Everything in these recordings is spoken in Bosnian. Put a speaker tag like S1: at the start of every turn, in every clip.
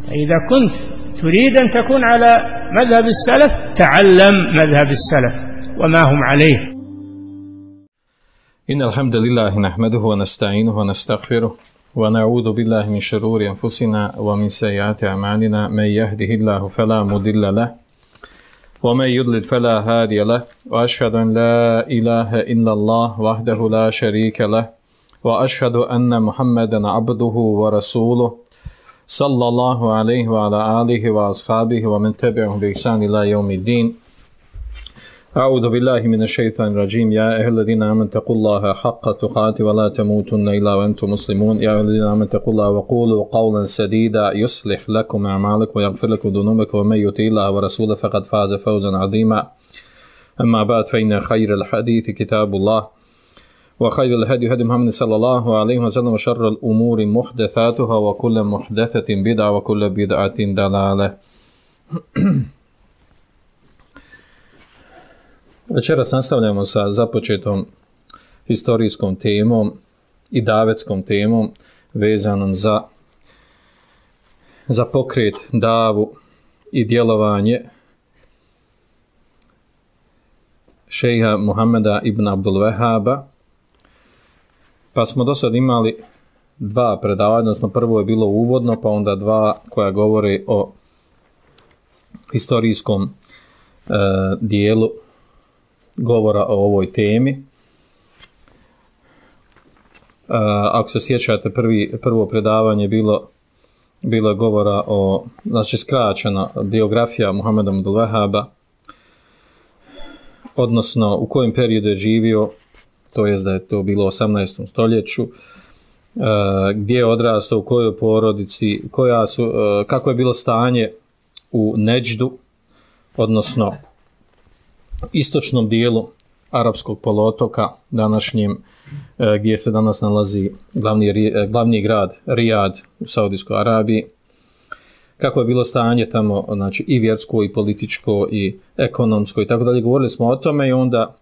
S1: إذا كنت تريد أن تكون على مذهب السلف تعلم مذهب السلف وما هم عليه.
S2: إن الحمد لله نحمده ونستعينه ونستغفره ونعوذ بالله من شرور أنفسنا ومن سيئات أعمالنا. من يهده الله فلا مضل له ومن يضلل فلا هادي له وأشهد أن لا إله إلا الله وحده لا شريك له وأشهد أن محمدا عبده ورسوله صلى الله عليه وعلى آله وأصحابه ومن تبعهم بإحسان إلى يوم الدين. أعوذ بالله من الشيطان الرجيم. يا أيها الذين آمنوا اتقوا الله حق تقاته ولا تموتن إلا وأنتم مسلمون. يا أيها الذين آمنوا اتقوا الله وقولوا قولا سديدا يصلح لكم أعمالكم ويغفر لكم ذنوبكم ومن يطع الله ورسوله فقد فاز فوزا عظيما. أما بعد فإن خير الحديث كتاب الله وخير الهدي هدي محمد صلى الله عليه وسلم وشر الأمور محدثاتها وكل محدثة بدعة وكل بدعة ضلالة. Večeras nastavljamo sa započetom historijskom temom i davetskom temom vezanom za pokret, davu i djelovanje šejha Muhameda ibn Abdul Wahhaba. Pa smo do sad imali dva predavanja, odnosno prvo je bilo uvodno, pa onda dva koja govore o historijskom dijelu govora o ovoj temi. Ako se sjećate, prvo predavanje bilo govora o, znači skraćena biografija Muhameda ibn Wahhaba, odnosno u kojem periodu je živio, to jest da je to bilo u 18. stoljeću, gdje je odrastao, u kojoj porodici, kako je bilo stanje u Neđdu, odnosno istočnom dijelu arapskog poluotoka, današnjem, gdje se danas nalazi glavni grad Rijad u Saudijskoj Arabiji. Kako je bilo stanje tamo, znači i vjersko i političko i ekonomsko i tako dalje. Govorili smo o tome i onda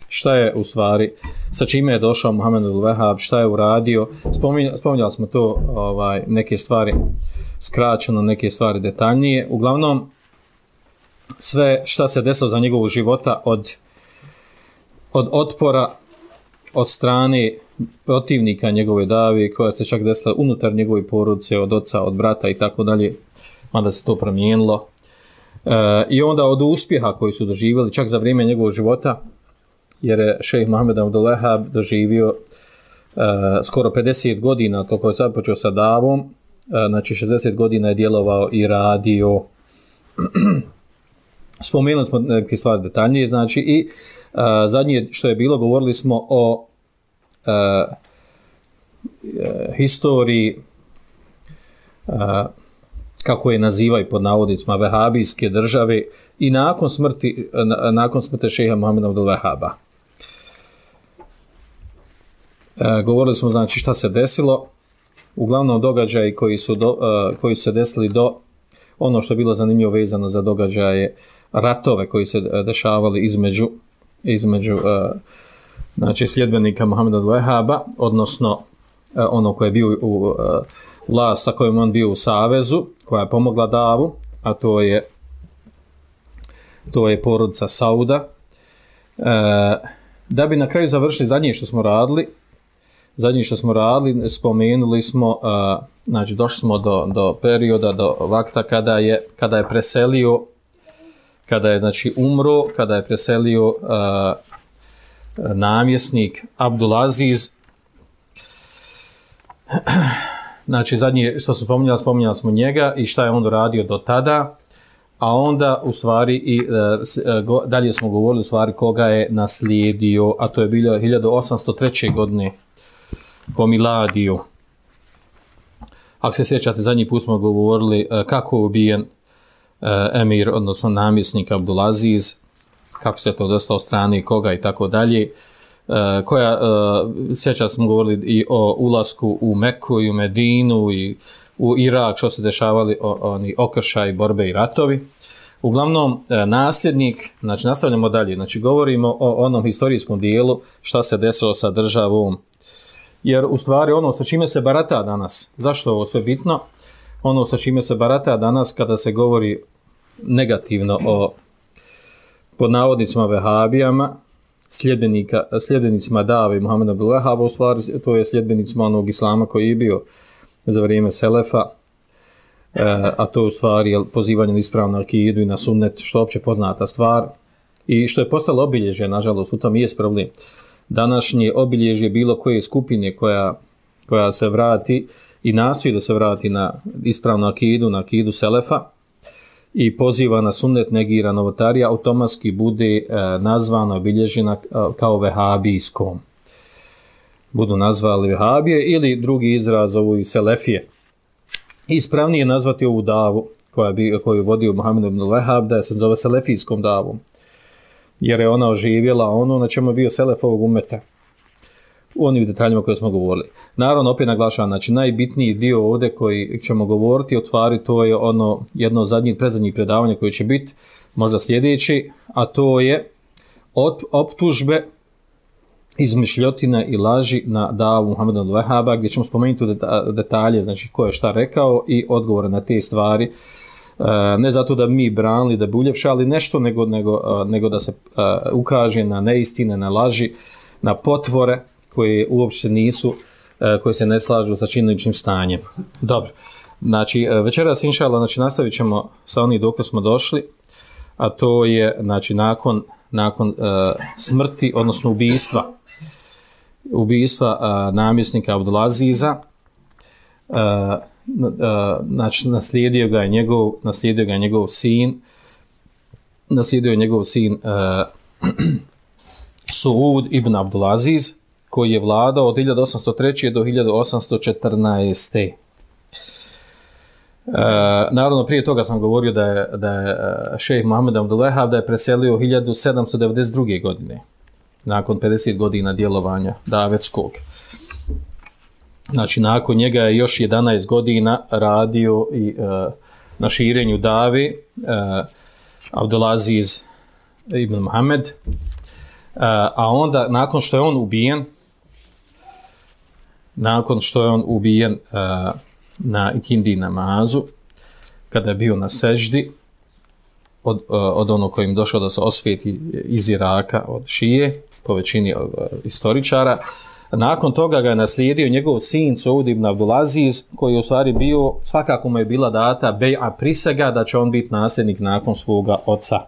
S2: šta je u stvari, sa čime je došao Muhammed ibn Wahhab, šta je uradio. Spominjali smo to, neke stvari skraćeno, neke stvari detaljnije. Uglavnom, sve šta se desilo za njegovog života od otpora od strane protivnika njegove dave, koja se čak desila unutar njegove porodice, od oca, od brata i tako dalje, mada se to promijenilo. I onda od uspjeha koji su doživjeli čak za vrijeme njegovog života, jer je šejh Muhammed ibn Wahhab doživio skoro 50 godina, koliko je započeo sa davom, znači 60 godina je djelovao i radio. Spomenuli smo neke stvari detaljnije, znači i zadnje što je bilo, govorili smo o historiji, kako je nazivaju pod navodnicima, vehabijske države i nakon smrti šejha Muhameda ibn Wahhaba. Govorili smo, znači, šta se desilo, uglavnom događaji koji su se desili do ono što je bilo zanimljivo vezano za događaje, ratove koji se dešavali između znači sljedbenika Muhameda ibn Wahhaba, odnosno ono koje je bio u vlast sa kojom on bio u savezu, koja je pomogla davu, a to je porodica Sauda. Da bi na kraju završili zadnje što smo radili, spomenuli smo, znači došli smo do perioda, do vakta kada je preselio, kada je znači umro, kada je preselio namjesnik Abdulaziz. Znači zadnje što smo spominjali smo njega i šta je on radio do tada, a onda u stvari i dalje smo govorili u stvari koga je naslijedio, a to je bilo 1803. godine po miladiju. Ako se sjećate, zadnji put smo govorili kako je ubijen emir, odnosno namjesnik Abdulaziz, kako se to desilo od strane koga i tako dalje. Sjećate smo govorili i o ulasku u Meku i u Medinu i u Irak, što se dešavali oni okršaji, borbe i ratovi. Uglavnom, nasljednik, znači nastavljamo dalje, znači govorimo o onom historijskom dijelu šta se desilo sa državom, jer u stvari ono sa čime se barata danas, zašto ovo sve bitno, ono sa čime se barata danas kada se govori negativno o pod navodnicima vehabijama, sljedbenicima Dave i Muhameda Abdul Wahhaba, u stvari to je sljedbenicima onog islama koji je bio za vrijeme Selefa, a to je u stvari pozivanje na ispravnu akidu i na sunnet, što je opće poznata stvar i što je postalo obilježje, nažalost, u tom jest problem. Današnje obilježje bilo koje skupine koja se vrati i nastoji da se vrati na ispravnu akidu, na akidu Selefa i poziva na sunnet, negira novotarija, automatski bude nazvana, obilježena kao vehabijskom. Budu nazvali vehabije ili drugi izraz ovu i selefije. Ispravnije je nazvati ovu davu koju je vodio Muhammed ibn Wahhab, da se zove selefijskom davom, jer je ona oživjela ono na čemu je bio selef ovog umeta u onim detaljima koje smo govorili. Naravno, opet naglašavam, znači najbitniji dio ovdje koji ćemo govoriti, otvari, to je ono jedno od predzadnjih predavanja koje će biti možda sljedeći, a to je optužbe, izmišljotina i laži na davu Muhammeda ibn Wahhaba, gdje ćemo spomenuti detalje, znači ko je šta rekao i odgovore na te stvari. Ne zato da mi branili, da bi uljepšali nešto, nego da se ukaže na neistine, na laži, na potvore koje uopće nisu, koje se ne slažu sa činjeničnim stanjem. Dobro, znači večeras inšallah, znači nastavit ćemo sa onih dok smo došli, a to je znači nakon smrti, odnosno ubistva namjesnika Abdulaziza, znači naslijedio ga je njegov sin Suud ibn Abdulaziz, koji je vladao od 1803. do 1814. Naravno, prije toga sam govorio da je šejh Muhammed Abdul Wahhab da je preselio 1792. godine, nakon 50 godina djelovanja davetskog. Znači, nakon njega je još 11 godina radio i na širenju dave Abdulaziz ibn Muhammed, a onda, nakon što je on ubijen na ikindi namazu, kada je bio na seždi, od onog kojim došao da se osvijeti iz Iraka, od šije, po većini historičara. Nakon toga ga je naslijedio njegov sin Suud ibn Abdulaziz, koji je u stvari bio, svakako mu je bila data bej'a, prisega da će on biti nasljednik nakon svoga oca.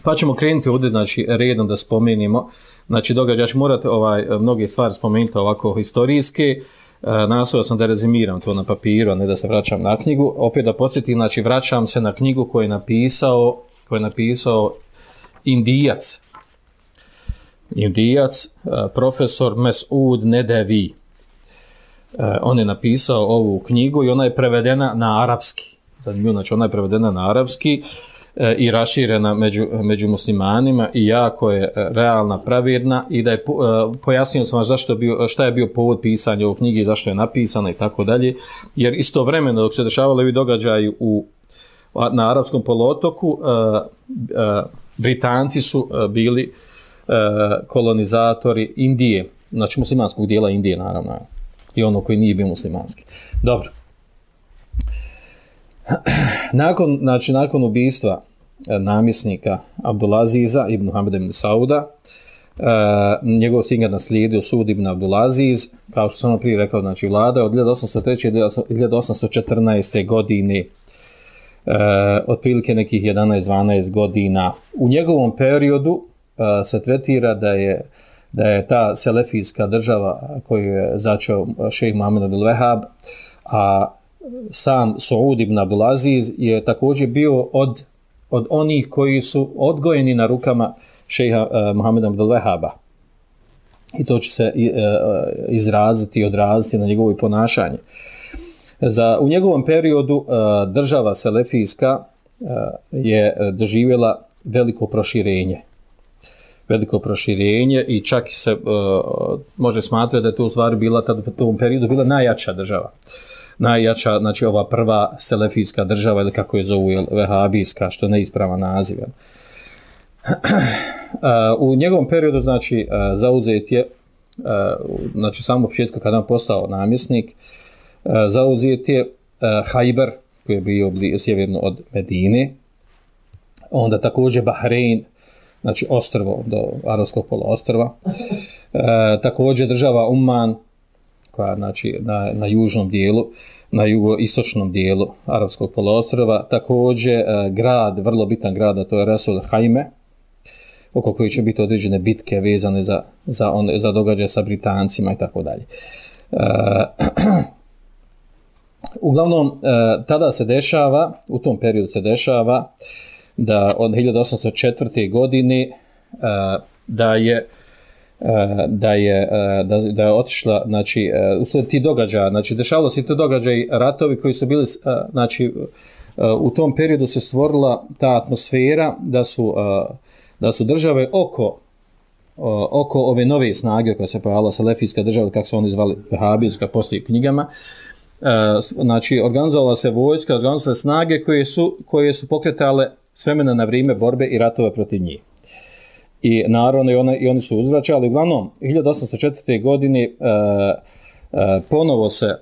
S2: Pa ćemo krenuti ovdje, znači, redom da spomenimo. Znači, događač morate mnoge stvari spomenuti ovako historijske. Nastojao sam da rezimiram to na papiru, a ne da se vraćam na knjigu. Opet da podsjetim, znači, vraćam se na knjigu koju je napisao Indijac, profesor Mes'ud Nedevi. On je napisao ovu knjigu i ona je prevedena na arapski. Zanimljivo, znači, ona je prevedena na arapski i raširena među muslimanima i jako je realna, pravedna, i da je pojasnio sam vas šta je bio povod pisanja ovog knjige i zašto je napisana i tako dalje, jer istovremeno dok se dešavali ovi događaji na arapskom poluotoku, Britanci su bili kolonizatori Indije, znači muslimanskog dijela Indije, naravno, i ono koji nije bio muslimanski. Dobro. Nakon ubistva namjesnika Abdulaziza ibn Muhammeda ibn Sauda, njegov sin ga naslijedio Suud ibn Abdulaziz, kao što sam prije rekao, znači vlada od 1803. do 1814. godine, otprilike nekih 11-12 godina. U njegovom periodu se tretira da je ta selefijska država koju je začeo šejh Muhammed Abdul Wahhab, a sam Suud ibn Abdulaziz je također bio od onih koji su odgojeni na rukama šejha Muhammeda Abdul Wahhaba. I to će se izraziti i odraziti na njegovo ponašanje. U njegovom periodu država selefijska je doživjela veliko proširenje i čak se može smatrati da je to u stvari bila u tom periodu bila najjača država. Najjača, znači ova prva selefijska država, ili kako je zovu, vehabijska, što je neispravan naziv. U njegovom periodu, znači, zauzet je znači samo početku kada on postao namjesnik, zauzet je Hajber, koji je bio sjeverno od Medine, onda također Bahrein, znači ostrvo do Arabskog poluostrva, također država Uman, koja znači na južnom dijelu, na jugoistočnom dijelu Arapskog poluostrva, također grad, vrlo bitan grad, a to je Rasul Hajme, oko koji će biti određene bitke vezane za događaje sa Britancima i tako dalje. Uglavnom, tada se dešava, u tom periodu se dešava da od 1804. godine da je otišla, znači, ti događaja, znači, dešavalo se ti događaji, ratovi koji su bili, znači, u tom periodu se stvorila ta atmosfera da su države oko ove nove snage koja se pojavila, salefijska država, kako su oni zvali, vehabijska, poslije knjigama, znači, organizovala se vojska, organizovala se snage koje su pokretale s vremena na vrijeme borbe i ratove protiv njih. I naravno i oni su uzvraćali. Uglavnom, 1804. godine ponovo se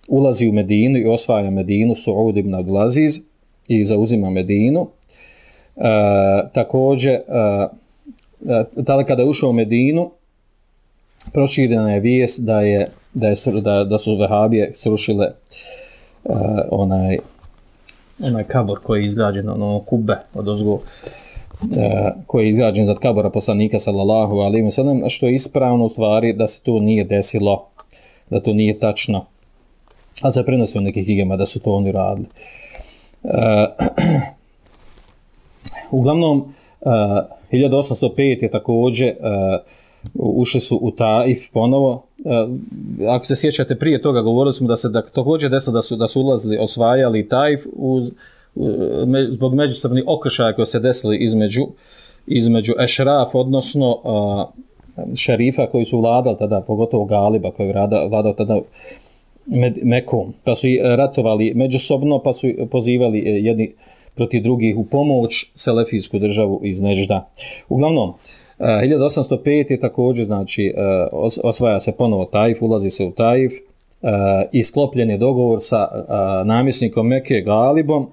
S2: ulazi u Medinu i osvaja Medinu, Suud ibn Abdulaziz, i zauzima Medinu. Također, tada kada je ušao u Medinu, proširena je vijest da su vehabije srušile onaj kabor koji je izgrađen, ono kubbe odozgo, koji je izgrađen za kabora poslanika sallallahu alejhi ve sellem, što je ispravno u stvari da se to nije desilo, da to nije tačno, ali se prenosi u nekih knjigama da su to oni radili. Uglavnom, 1805 je također ušli su u Taif ponovo. Ako se sjećate, prije toga govorili smo da također desilo da su ulazili, osvajali Taif zbog međusobnih okršaja koji se desili između ešraf, odnosno šerifa koji su vladali tada, pogotovo Galiba koji je vladao tada Mekom, pa su ratovali međusobno, pa su pozivali jedni protiv drugih u pomoć selefijsku državu iz Nežda. Uglavnom, 1805 je također, znači, osvaja se ponovo Taif, ulazi se u Taif, i sklopljen je dogovor sa namjesnikom Mekke Galibom,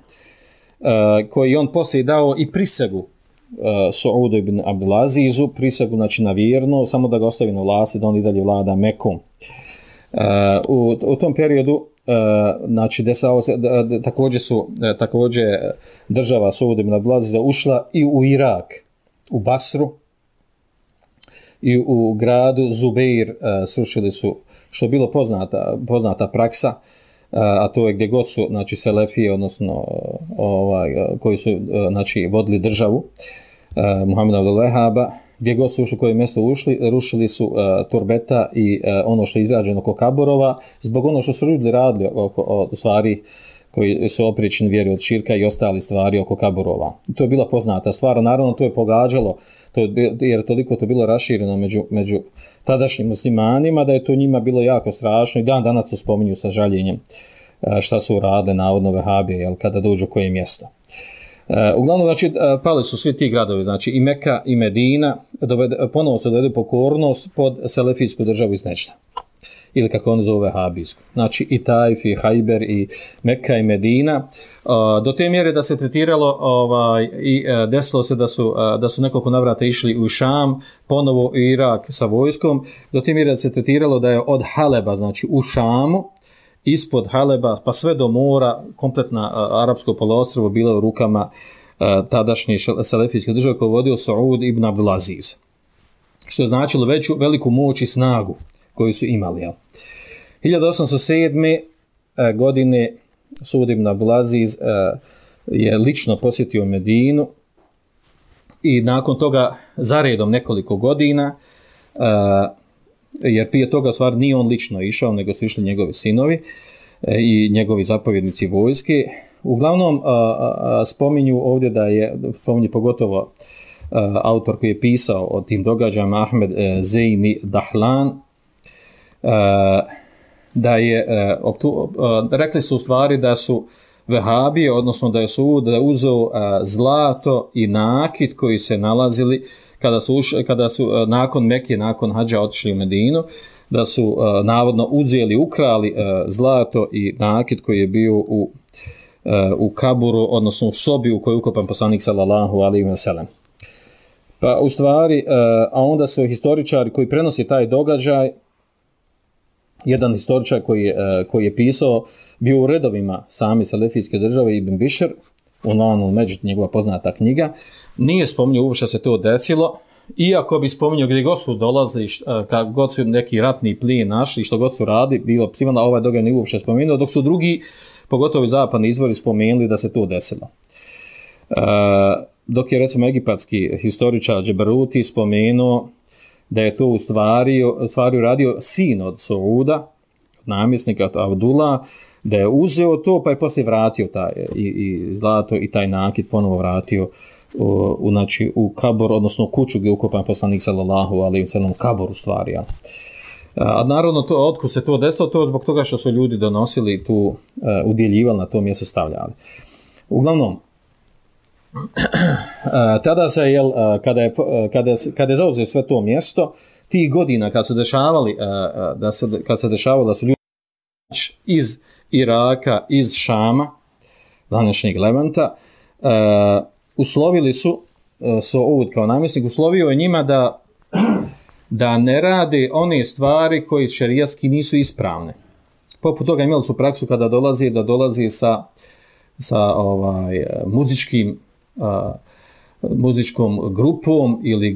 S2: koji on poslije dao i prisegu Suudu ibn Abdulazizu, prisegu, znači, na vjerno, samo da ga ostavi na vlasti, da on i dalje vlada Mekom. U tom periodu, znači, također država Suud ibn Abdulaziza ušla i u Irak, u Basru, i u gradu Zubeir srušili su, što je bilo poznata praksa, a to je gdje god su, znači, selefije, odnosno koji su, znači, vodili državu Muhameda Abdul Vehaba, gdje god su ušli, koje mjesto ušli, rušili su turbeta i ono što je izrađeno oko kaborova, zbog ono što su ljudi radili oko stvari koji su oprični vjeri od širka i ostali stvari oko kaborova. To je bila poznata stvar, naravno to je pogađalo, jer toliko to bilo rašireno među tadašnjim muslimanima, da je to njima bilo jako strašno i dan danas to spominju sa žaljenjem šta su radile navodno vehabije, jel, kada dođu u koje mjesto. Uglavnom, znači, pali su svi ti gradovi, znači i Meka i Medina, ponovo se dovede pokornost pod selefijsku državu iz Nežda, ili kako on zove vehabijsku. Znači i Taif, i Hajber, i Meka i Medina, do te mjere da se tretiralo i desilo se da su nekoliko navrata išli u Šam, ponovo u Irak sa vojskom, do te mjere da se tretiralo da je od Haleba, znači u Šamu, ispod Haleba, pa sve do mora, kompletna arapsko poluostrvo bilo u rukama tadašnje selefijske države koje vodio Suud ibn Abdulaziz. Što je značilo veliku moć i snagu koju su imali. 1807. godine Suud ibn Abdulaziz je lično posjetio Medinu i nakon toga zaredom nekoliko godina, jer prije toga stvar nije on lično išao, nego su išli njegovi sinovi i njegovi zapovjednici vojske. Uglavnom spominju ovdje spominju pogotovo autor koji je pisao o tim događajima, Ahmed Zeyni Dahlan, da je rekli su u stvari da su Vehabije, odnosno da je Saud uzeo zlato i nakit koji se nalazili kada su nakon Mekije, nakon hadža otišli u Medinu, da su navodno uzeli, ukrali zlato i nakit koji je bio u kaburu, odnosno u sobi u kojoj je ukopan poslanik sallallahu alejhi ve sellem. Pa u stvari, a onda su historičari koji prenosi taj događaj, jedan historičar koji je pisao, bio u redovima sami selefijske države, Ibn Bišr, Unvanul Međid, njegova poznata knjiga, nije spominjao uopšte se to desilo, iako bi spominjao gdje god su dolazili, kad god su neki ratni plin našli, što god su radi, bilo psivano, ovaj događaj nije uopšte spomenuo, dok su drugi, pogotovo zapadni izvori, spomenuli da se to desilo. Dok je recimo egipatski historičar Džeberuti spomenuo da je to u stvari radio sin od Sauda, namjesnika Abdullah, da je uzeo to pa je poslije vratio taj i zlato i taj nakit ponovo vratio u kabor, odnosno kuću gdje je ukopan poslanik sallallahu alejhi ve sellem, kabor u stvari. Ja. A naravno to otkud se to desilo, to zbog toga što su ljudi donosili tu, udjeljivali na to mjesto, stavljali. Uglavnom, tada se kada je zauzeo sve to mjesto, tih godina kad se dešavalo da su ljudi iz Iraka, iz Šama, današnjeg Levanta, uslovili su Saud kao namjesnik, uslovio je njima da ne rade one stvari koji šerijatski nisu ispravne. Poput toga imali su praksu kada dolazi sa muzičkom grupom ili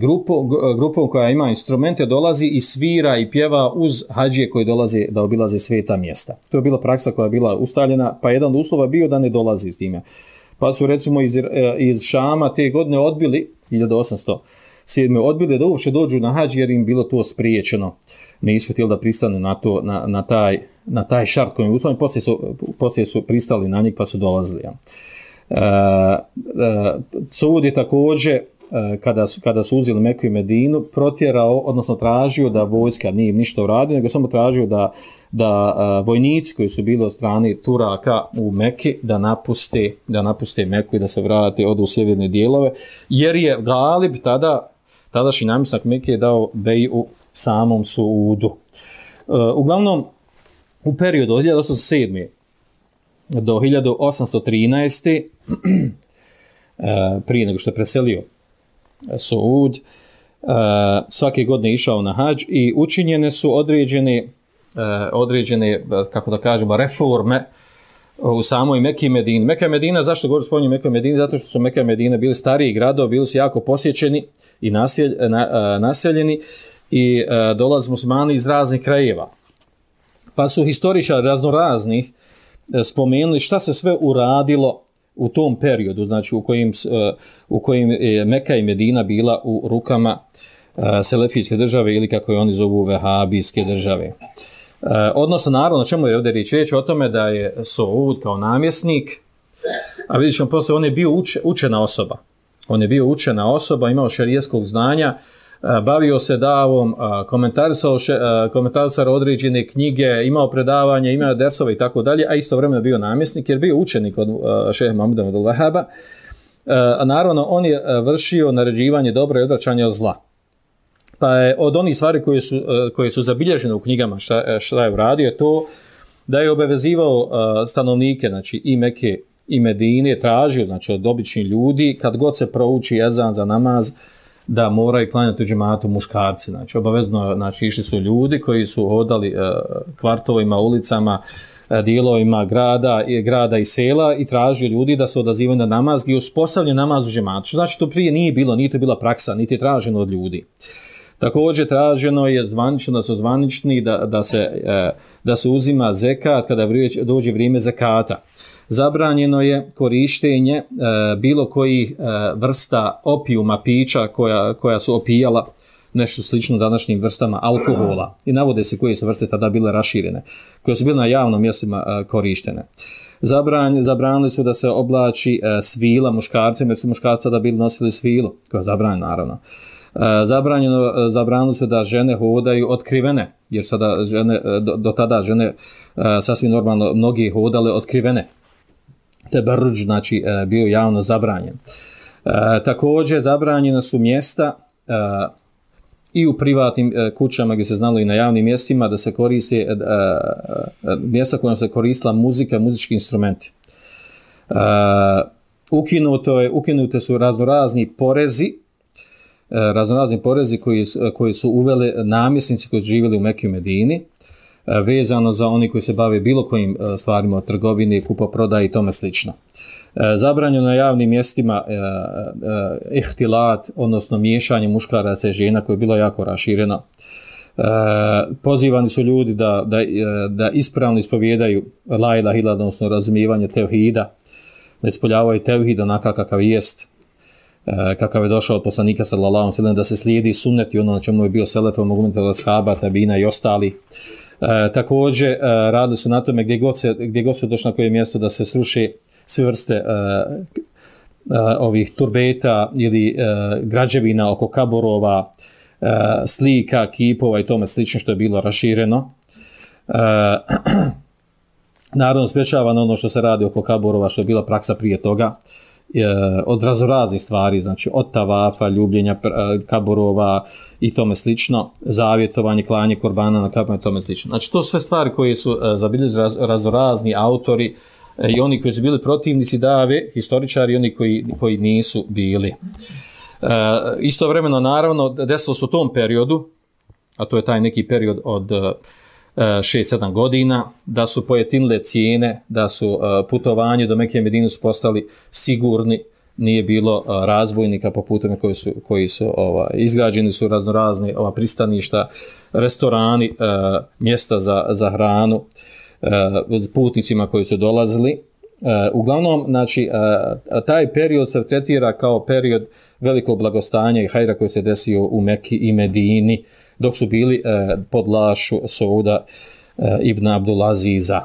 S2: grupom koja ima instrumente, dolazi i svira i pjeva uz hadžije koji dolaze da obilaze sveta mjesta. To je bila praksa koja je bila ustaljena, pa jedan od uslova bio da ne dolazi s time. Pa su recimo iz Šama te godine odbili, 1807. odbili da uopće dođu na hadž jer im bilo to spriječeno. Nisu htjeli da pristanu na taj šart koji je uslovljen, poslije su pristali na njih pa su dolazili. Ja. Saud je također, kada su uzeli Meku i Medinu, protjerao, odnosno tražio da vojska nije im ništa uradio, nego samo tražio da vojnici koji su bili od strane Turaka u Meki da napuste Meku i da se vrate od u sjeverne dijelove, jer je Galib tadašnji namjesnik Meke dao beju samom Saudu. Uglavnom, u periodu od 1807. do 1813. prije nego što je preselio Saud, svake godine išao na hadž i učinjene su određene, kako da kažemo, reforme u samoj Meki i Medini. Meka i Medina, zašto govorim spominjem Meku i Medini? Zato što su Meka i Medina bili stariji gradovi, bili su jako posjećeni i naseljeni i dolaze muslimani iz raznih krajeva. Pa su historičari raznoraznih spomenuli šta se sve uradilo u tom periodu, znači u kojim je Meka i Medina bila u rukama selefijske države ili kako je oni zovu vehabijske države. Odnosno, naravno, na čemu je ovdje riječ o tome da je Saud kao namjesnik, a vidjet ćemo poslije, on je bio učena osoba. On je bio učena osoba, imao šerijskog znanja, bavio se davom, komentarisao određene knjige, imao predavanja, imao dersove i tako dalje, a istovremeno bio namjesnik jer bio učenik od šeha Muhameda Abdul Wahhaba. A naravno, on je vršio naređivanje dobra i odvraćanje od zla. Pa je od onih stvari koje su zabilježene u knjigama šta je uradio je to da je obavezivao stanovnike, znači i Meke i Medine, tražio znači od običnih ljudi kad god se prouči ezan za namaz da moraju klanjati u džematu muškarci. Znači obavezno išli su ljudi koji su hodali kvartovima, ulicama, dijelovima grada i sela i tražio ljudi da se odazivaju na namaz i uspostavljen namaz u džematu. Što znači to prije nije bilo, nije to bila praksa, niti je traženo od ljudi. Također traženo je zvanično, da su zvanični da se uzima zekat kada dođe vrijeme zekata. Zabranjeno je korištenje bilo kojih vrsta opijuma, pića koja su opijala nešto slično današnjim vrstama alkohola. I navode se koje su vrste tada bile raširene, koje su bile na javnom mjestima korištene. Zabranili su da se oblači svila muškarcima, jer su muškarci da bili nosili svilu, koja je zabranjena naravno. Zabranili su da žene hodaju otkrivene, jer sada do tada žene sasvim normalno mnogi hodale otkrivene. teberruđ, znači bio javno zabranjen. Također zabranjena su mjesta i u privatnim kućama gdje se znalo i na javnim mjestima da se koriste mjesta kojom se koristila muzika, muzički instrumenti. Ukinute su raznorazni porezi koji su uveli namjesnici koji su živjeli u Mekki i Medini, vezano za oni koji se bave bilo kojim stvarima od trgovine, kupoprodaje i tome slično. Zabranjeno na javnim mjestima ihtilat, odnosno miješanje muškaraca i žena, koje je bilo jako rašireno. Pozivani su ljudi da ispravno ispovijedaju la ilaha illallah, odnosno razumijevanje tevhida, da ispoljavaju tevhid onakav kakav jest, kakav je došao od poslanika sallallahu alejhi ve sellem, da se slijedi sunnet i ono na čemu je bio selef, ummet ashaba, tabina i ostali. Također radili su na tome gdje god se došlo na koje mjesto da se sruše sve vrste ovih turbeta ili građevina oko kaborova, slika, kipova i tome slično što je bilo rašireno. Naravno sprječavano ono što se radi oko kaborova, što je bila praksa prije toga, od raznoraznih stvari, znači od tavafa, ljubljenja kaborova i tome slično, zavjetovanje, klanje korbana na kaborima i tome slično. Znači to sve stvari koje su zabilježili raznorazni autori i oni koji su bili protivnici dave, historičari i oni koji nisu bili. Istovremeno, naravno, desilo se u tom periodu, a to je taj neki period od 6-7 godina, da su pojetinile cijene, da su putovanje do Mekke i Medine su postali sigurni, nije bilo razbojnika po putovima koji su izgrađeni su raznorazne pristaništa, restorani, mjesta za hranu, putnicima koji su dolazili. Uglavnom, znači, taj period se tretira kao period velikog blagostanja i hajra koji se desio u Mekki i Medini, dok su bili pod vlašću Sauda ibn Abdulaziza.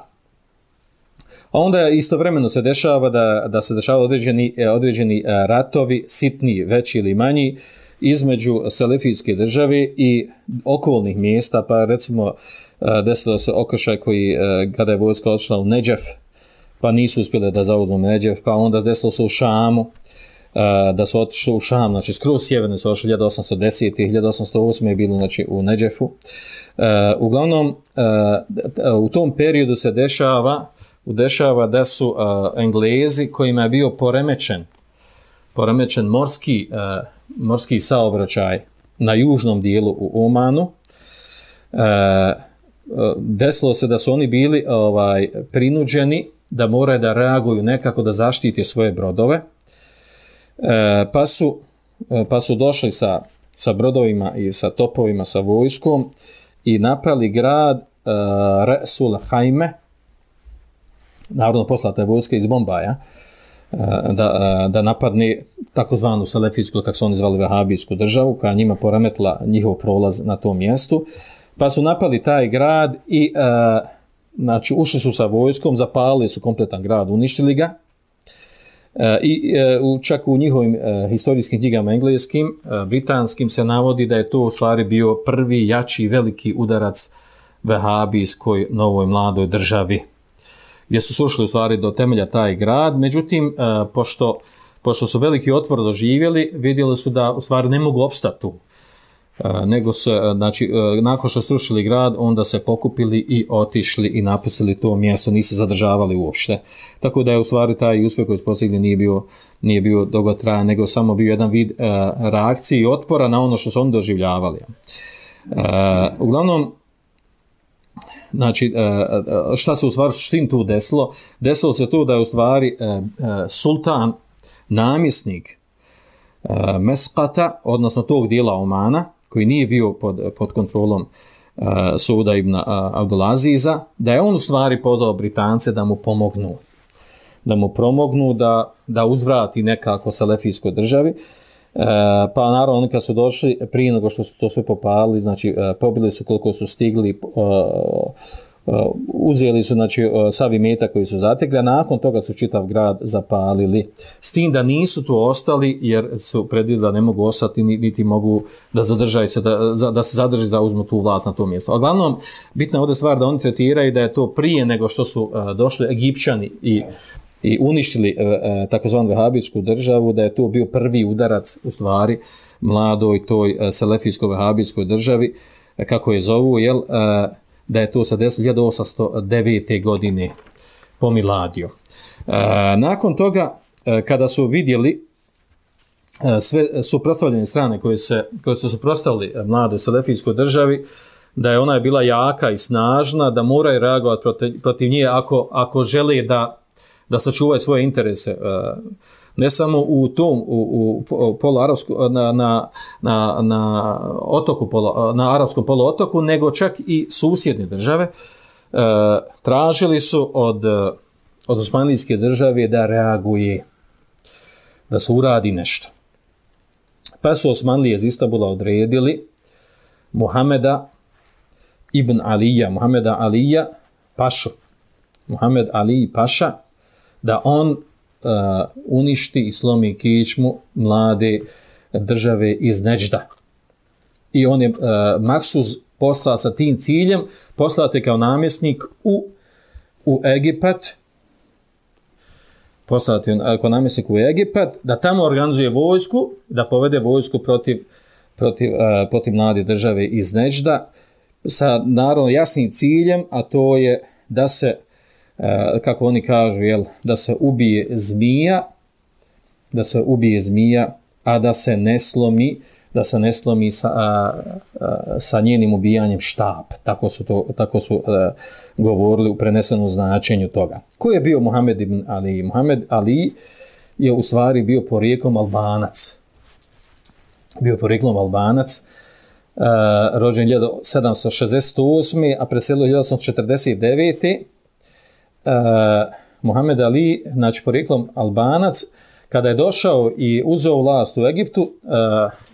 S2: A onda istovremeno se dešava da se dešava određeni ratovi, sitni, veći ili manji, između selefijske države i okolnih mjesta, pa recimo desilo se okršaj koji, kada je vojska odšla u Nedžef, pa nisu uspjeli da zauzmu Nedžef, pa onda desilo se u Šamu, da su otišli u Šam, znači skroz sjeverno su otišli 1810. i 1808. je bilo znači, u Nedžefu. Uglavnom, u tom periodu se dešava da su Englezi kojima je bio poremećen morski saobraćaj na južnom dijelu u Omanu, desilo se da su oni bili prinuđeni da moraju da reaguju nekako da zaštite svoje brodove, pa su došli sa brodovima i sa topovima, sa vojskom i napali grad Resul Hajme, naravno poslata je vojska iz Bombaja, da napadne takozvanu selefijsku, kako su oni zvali, vehabijsku državu, koja njima poremetila njihov prolaz na tom mjestu. Pa su napali taj grad i znači, ušli su sa vojskom, zapalili su kompletan grad, uništili ga. I čak u njihovim historijskim knjigama engleskim, britanskim se navodi da je to u stvari bio prvi jači veliki udarac vehabijskoj novoj mladoj državi, gdje su sušli u stvari do temelja taj grad. Međutim, pošto su veliki otpor doživjeli, vidjeli su da u stvari ne mogu opstati tu. Nego se, znači, nakon što srušili grad, onda se pokupili i otišli i napustili to mjesto, nisu zadržavali uopšte. Tako da je u stvari taj uspjeh koji su postigli nije bio dugotrajan, nego samo bio jedan vid reakcije i otpora na ono što su oni doživljavali. Uglavnom, znači, šta se u stvari suštini tu desilo? Desilo se to da je u stvari sultan, namjesnik Meskata, odnosno tog dijela Omana, koji nije bio pod kontrolom Sauda ibn Abdulaziza, da je on u stvari pozvao Britance da mu pomognu, da uzvrati nekako selefijskoj državi. Pa naravno oni kad su došli, prije nego što su to sve popalili, znači pobili su koliko su stigli, uzeli su znači sav imetak koji su zatekli, a nakon toga su čitav grad zapalili. S tim da nisu tu ostali jer su predvidjeli da ne mogu ostati niti mogu da zadržaju se, da se zadrži da uzmu tu vlast na to mjesto. A glavnom, bitna je ovdje stvar da oni tretiraju da je to prije nego što su došli Egipćani i uništili takozvanu vehabijsku državu, da je to bio prvi udarac u stvari mladoj toj selefijskoj vehabijskoj državi, kako je zovu, da je to sa 1809. godine po miladiju. Nakon toga, kada su vidjeli sve suprotstavljene strane koje su suprotstavili mladoj selefijskoj državi, da je ona bila jaka i snažna, da moraju reagovati protiv nje ako žele da sačuvaju svoje interese. Ne samo u tom u poluarapsku na otoku na arapskom poluotoku, nego čak i susjedne države tražili su od osmanlijske države da reaguje, da se uradi nešto. Pa su Osmanlije iz Istanbula odredili Muhameda ibn Alija, Muhameda Alija Pašu, Muhamed Ali Paša, da on uništi i slomi kičmu mlade države iz Neđda. I on je maksuz poslao sa tim ciljem, poslate kao namjesnik u Egipat, poslati kao namjesnik u Egipat, da tamo organizuje vojsku, da povede vojsku protiv mlade države iz Neđda, sa naravno jasnim ciljem, a to je da se, kako oni kažu, da se ubije zmija, a da se ne slomi sa njenim ubijanjem štap. Tako su govorili u prenesenom značenju toga. Ko je bio Muhammed ibn Ali? Muhammed Ali je u stvari bio porijeklom Albanac. Rođen 1768. a preselio 1849. Muhammed Ali, znači porijeklom Albanac, kada je došao i uzeo vlast u Egiptu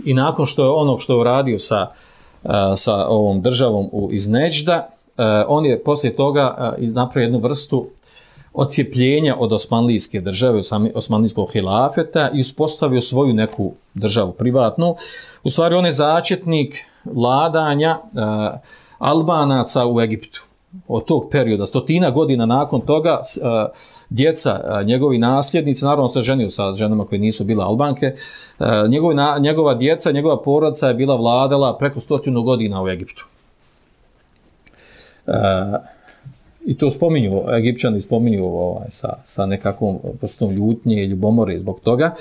S2: i nakon što je onog što je uradio sa ovom državom iz Neđda, on je poslije toga napravio jednu vrstu odcijepljenja od osmanlijske države, osmanlijskog hilafeta i uspostavio svoju neku državu privatnu. U stvari on je začetnik vladanja Albanaca u Egiptu. Od tog perioda, 100 godina nakon toga, djeca, njegovi nasljednici, naravno se ženio sa ženama koje nisu bile Albanke, njegova djeca, njegova porodica je bila vladala preko 100 godina u Egiptu. I to Egipćani spominju sa nekakvom vrstom ljutnje i ljubomore zbog toga.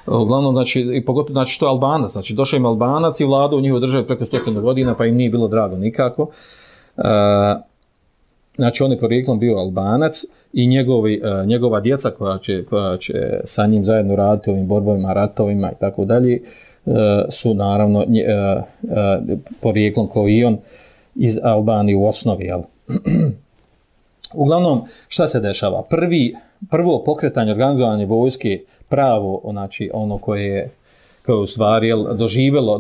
S2: Uglavnom, znači, i pogotovo, znači, što je Albanac, znači, došao im Albanac i vladao u njihovoj državi preko 100 godina, pa im nije bilo drago nikako. Znači, on je porijeklom bio Albanac i njegova djeca koja će sa njim zajedno raditi ovim borbovima, ratovima i tako dalje, su naravno porijeklom kao i on iz Albanije u osnovi, jel? Uglavnom, šta se dešava? Prvo pokretanje, organizovanje vojske, pravo, znači ono koje je u stvari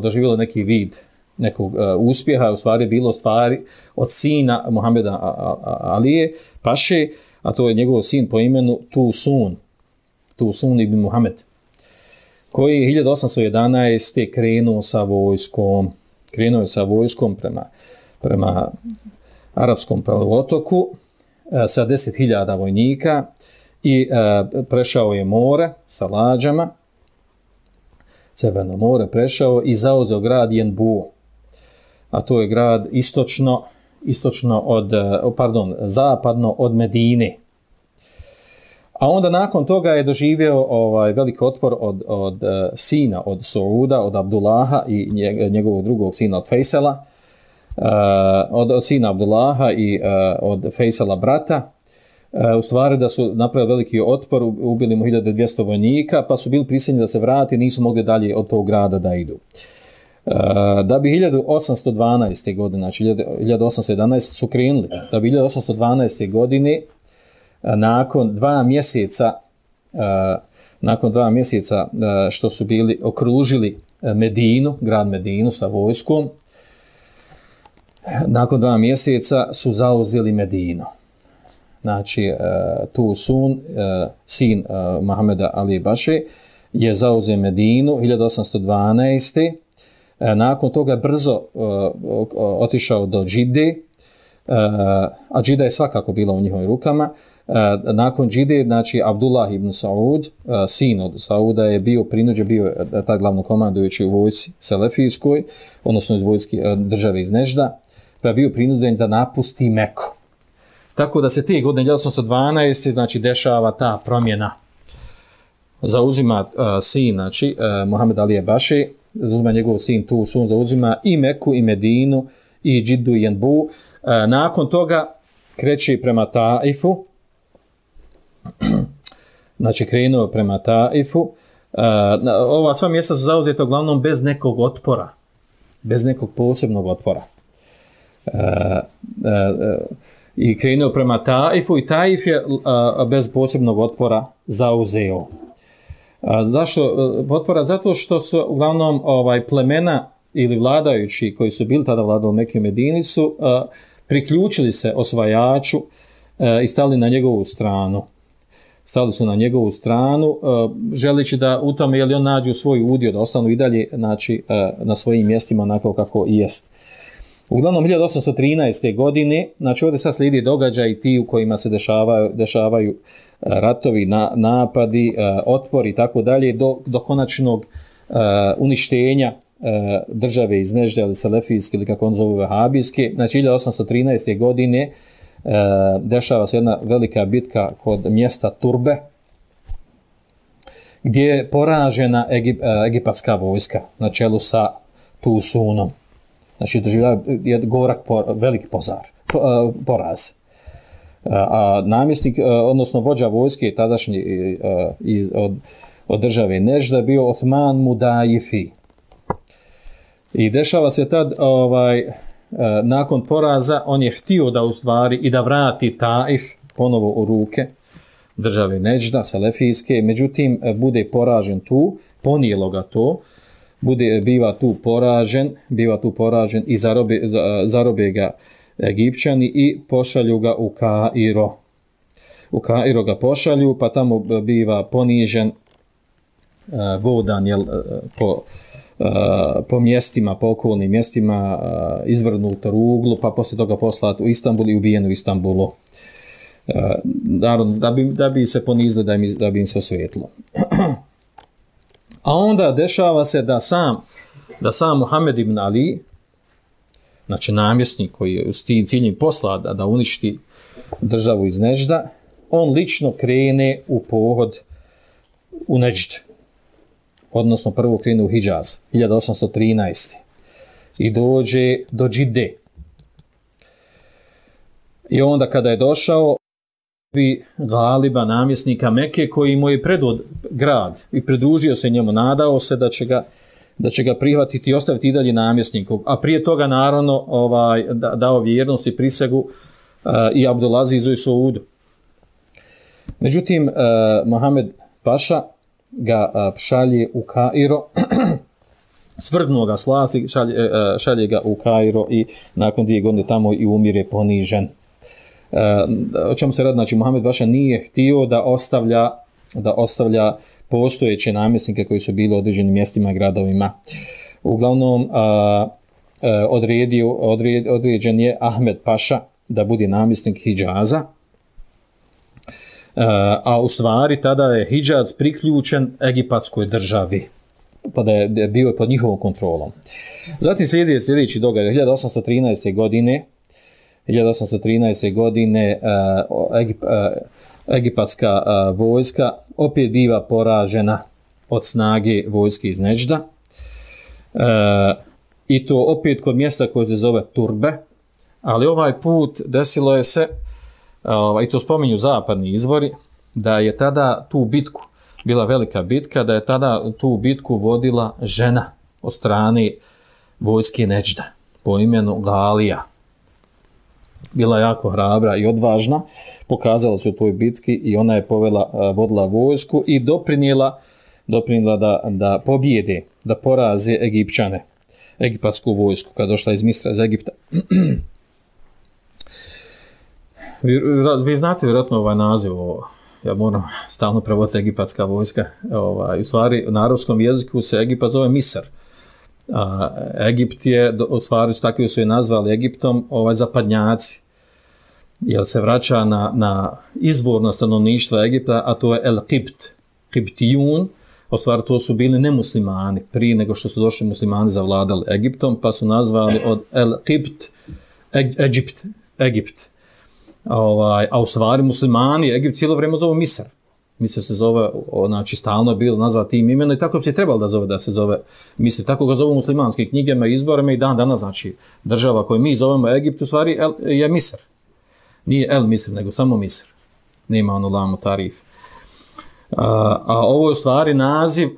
S2: doživjelo neki vid nekog uspjeha, u stvari bilo stvari od sina Muhameda Alije Paše, a to je njegov sin po imenu Tusun ibn Muhammed, koji je 1811. krenuo sa vojskom prema arapskom poluotoku sa 10.000 vojnika i prešao je more sa lađama, Crveno more prešao i zauzeo grad Jenbu, a to je grad zapadno od Medine. A onda nakon toga je doživio veliki otpor od sina, od Sauda, od Abdullaha i njegovog drugog sina, od Fejsela, od sina Abdullaha i od Fejsela brata. U stvari da su napravili veliki otpor, ubili mu 1200 vojnika, pa su bili prisiljeni da se vrati, nisu mogli dalje od tog grada da idu. Da bi 1812. godine, znači 1811. su krenuli, da bi 1812. godine nakon 2 mjeseca što su bili okružili grad Medinu sa vojskom, nakon 2 mjeseca su zauzeli Medinu. Znači, Tusun, sin Muhameda Ali Paše, je zauzeo Medinu 1812. Nakon toga brzo otišao do Džide, a Džida je svakako bila u njihovim rukama. nakon džide, znači Abdullah ibn Saud, sin od Sauda, je bio prinuđen, bio je taj glavnokomandujući u vojsci selefijskoj, odnosno iz vojske države iz Nežda, pa je bio prinuđen da napusti Meku. Tako da se te godine 1812. znači dešava ta promjena. Zauzima sin, znači Muhammed Alije Baše, zauzima njegov sin tu sun, zauzima i Meku i Medinu i Džiddu i Jenbu. Nakon toga kreće prema Taifu, znači krenuo prema Taifu. Ova sva mjesta su zauzeta uglavnom bez nekog otpora, bez nekog posebnog otpora. I krenuo prema Taifu i Taif je bez posebnog otpora zauzeo. Zašto otpora? Zato što su uglavnom plemena ili vladajući koji su bili tada vladali u Mekke i Medini su priključili se osvajaču i stali na njegovu stranu. Stali su na njegovu stranu, želeći da u tome on nađu svoj udio, da ostanu i dalje znači, na svojim mjestima onako kako i jest. Uglavnom 1813. godine, znači ovdje sad slijedi događaj ti u kojima se dešavaju ratovi, napadi, otpori i tako dalje, do konačnog uništenja države iz Nežde ili Selefijske ili kako on zove Vahabijske. Znači 1813. godine dešava se jedna velika bitka kod mjesta Turbe, gdje je poražena egipatska vojska na čelu sa Tusunom. Znači doživljava je gorak, velik poraz. A namjesnik, odnosno vođa vojske tadašnji od države Nežda bio Osman Mudajifi. I dešava se tad, nakon poraza, on je htio da u stvari i da vrati Taif ponovo u ruke države Nežda, Selefijske, međutim, bude poražen tu, ponijelo ga to, biva tu poražen i zarobe ga Egipćani i pošalju ga u Kairo. U Kairo ga pošalju, pa tamo biva ponižen, vodan po mjestima, po okolnim mjestima, izvrnut ruglu, pa poslije toga poslat u Istanbul i ubijen u Istanbulu. Da bi se ponizili, da bi im se osvetilo. A onda dešava se da sam Muhammed ibn Ali, znači namjesnik koji je s ciljem posla da uništi državu iz Nežda, on lično krene u pohod u Nežd. Odnosno prvo krene u Hidžaz, 1813. I dođe do Džide. I onda kada je došao, bi Galiba, namjesnika Mekke, koji mu je predvod grad i pridružio se njemu, nadao se da će ga prihvatiti i ostaviti i dalje namjesnikom. A prije toga, naravno, dao vjernost i prisegu i Abdulazizu i Saudu. Međutim, Mohamed Paša ga šalje u Kairo, svrgnuo ga s vlasti, šalje ga u Kairo i nakon 2 godine tamo i umire ponižen. O čemu se radi? Znači, Mohamed Paša nije htio da ostavlja postojeće namjesnike koji su bili u određenim mjestima i gradovima. Uglavnom, određen je Ahmed Paša da bude namjesnik Hidžaza, a u stvari tada je Hidžaz priključen egipatskoj državi, pa da je bio pod njihovom kontrolom. Zatim sljedeći događaj, 1813. godine egipatska vojska opet biva poražena od snage vojske iz Nežda. I to opet kod mjesta koje se zove Turbe, ali ovaj put desilo je se, i to spominju zapadni izvori, da je tada tu bitku, bila velika bitka, da je tada tu bitku vodila žena od strane vojske Nežda po imenu Galija. Bila jako hrabra i odvažna, pokazala se u toj bitki i ona je vodila vojsku i doprinijela da pobjede, da poraze Egipćane, egipatsku vojsku, kada došla iz Misra, iz Egipta. Vi znate vjerojatno ovaj naziv, ja moram stalno prevoditi egipatska vojska, u stvari na arapskom jeziku se Egipat zove Misr. Egipt je, u stvari takvi su je nazvali Egiptom, zapadnjaci. jer se vraća na izvorno stanovništvo Egipta, a to je El-Qibt, Qibtijun. U stvari to su bili nemuslimani prije nego što su došli muslimani zavladali Egiptom, pa su nazvali od El-Qibt Egipt. A u stvari muslimani Egipt cijelo vrijeme zovu Misr. Misr se zove, znači stalno je bilo nazvat tim imenom i tako bi se trebalo da se zove Misr. Tako ga zovu muslimanske knjigama, izvorima i dan danas, znači država koju mi zovemo Egipt u stvari je Misr. Nije El Misr, nego samo Misr. Nema ono lamu tarif. A ovo je u stvari naziv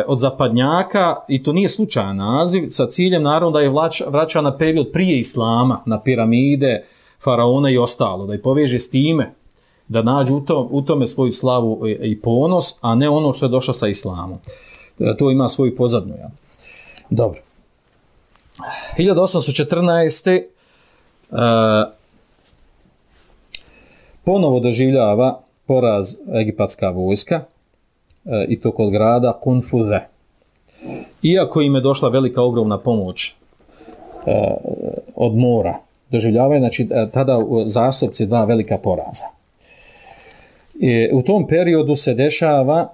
S2: od zapadnjaka i to nije slučajan naziv sa ciljem naravno da je vraća na period prije islama, na piramide, faraona i ostalo, da je poveže s time, da nađe u tome svoju slavu i ponos, a ne ono što je došlo sa islamom. To ima svoju pozadnju. Ja. Dobro. 1814. Ponovo doživljava poraz egipatska vojska i to kod grada Kunfuze. Iako im je došla velika ogromna pomoć od mora, doživljavaju znači, tada zastupci dva velika poraza. U tom periodu se dešava,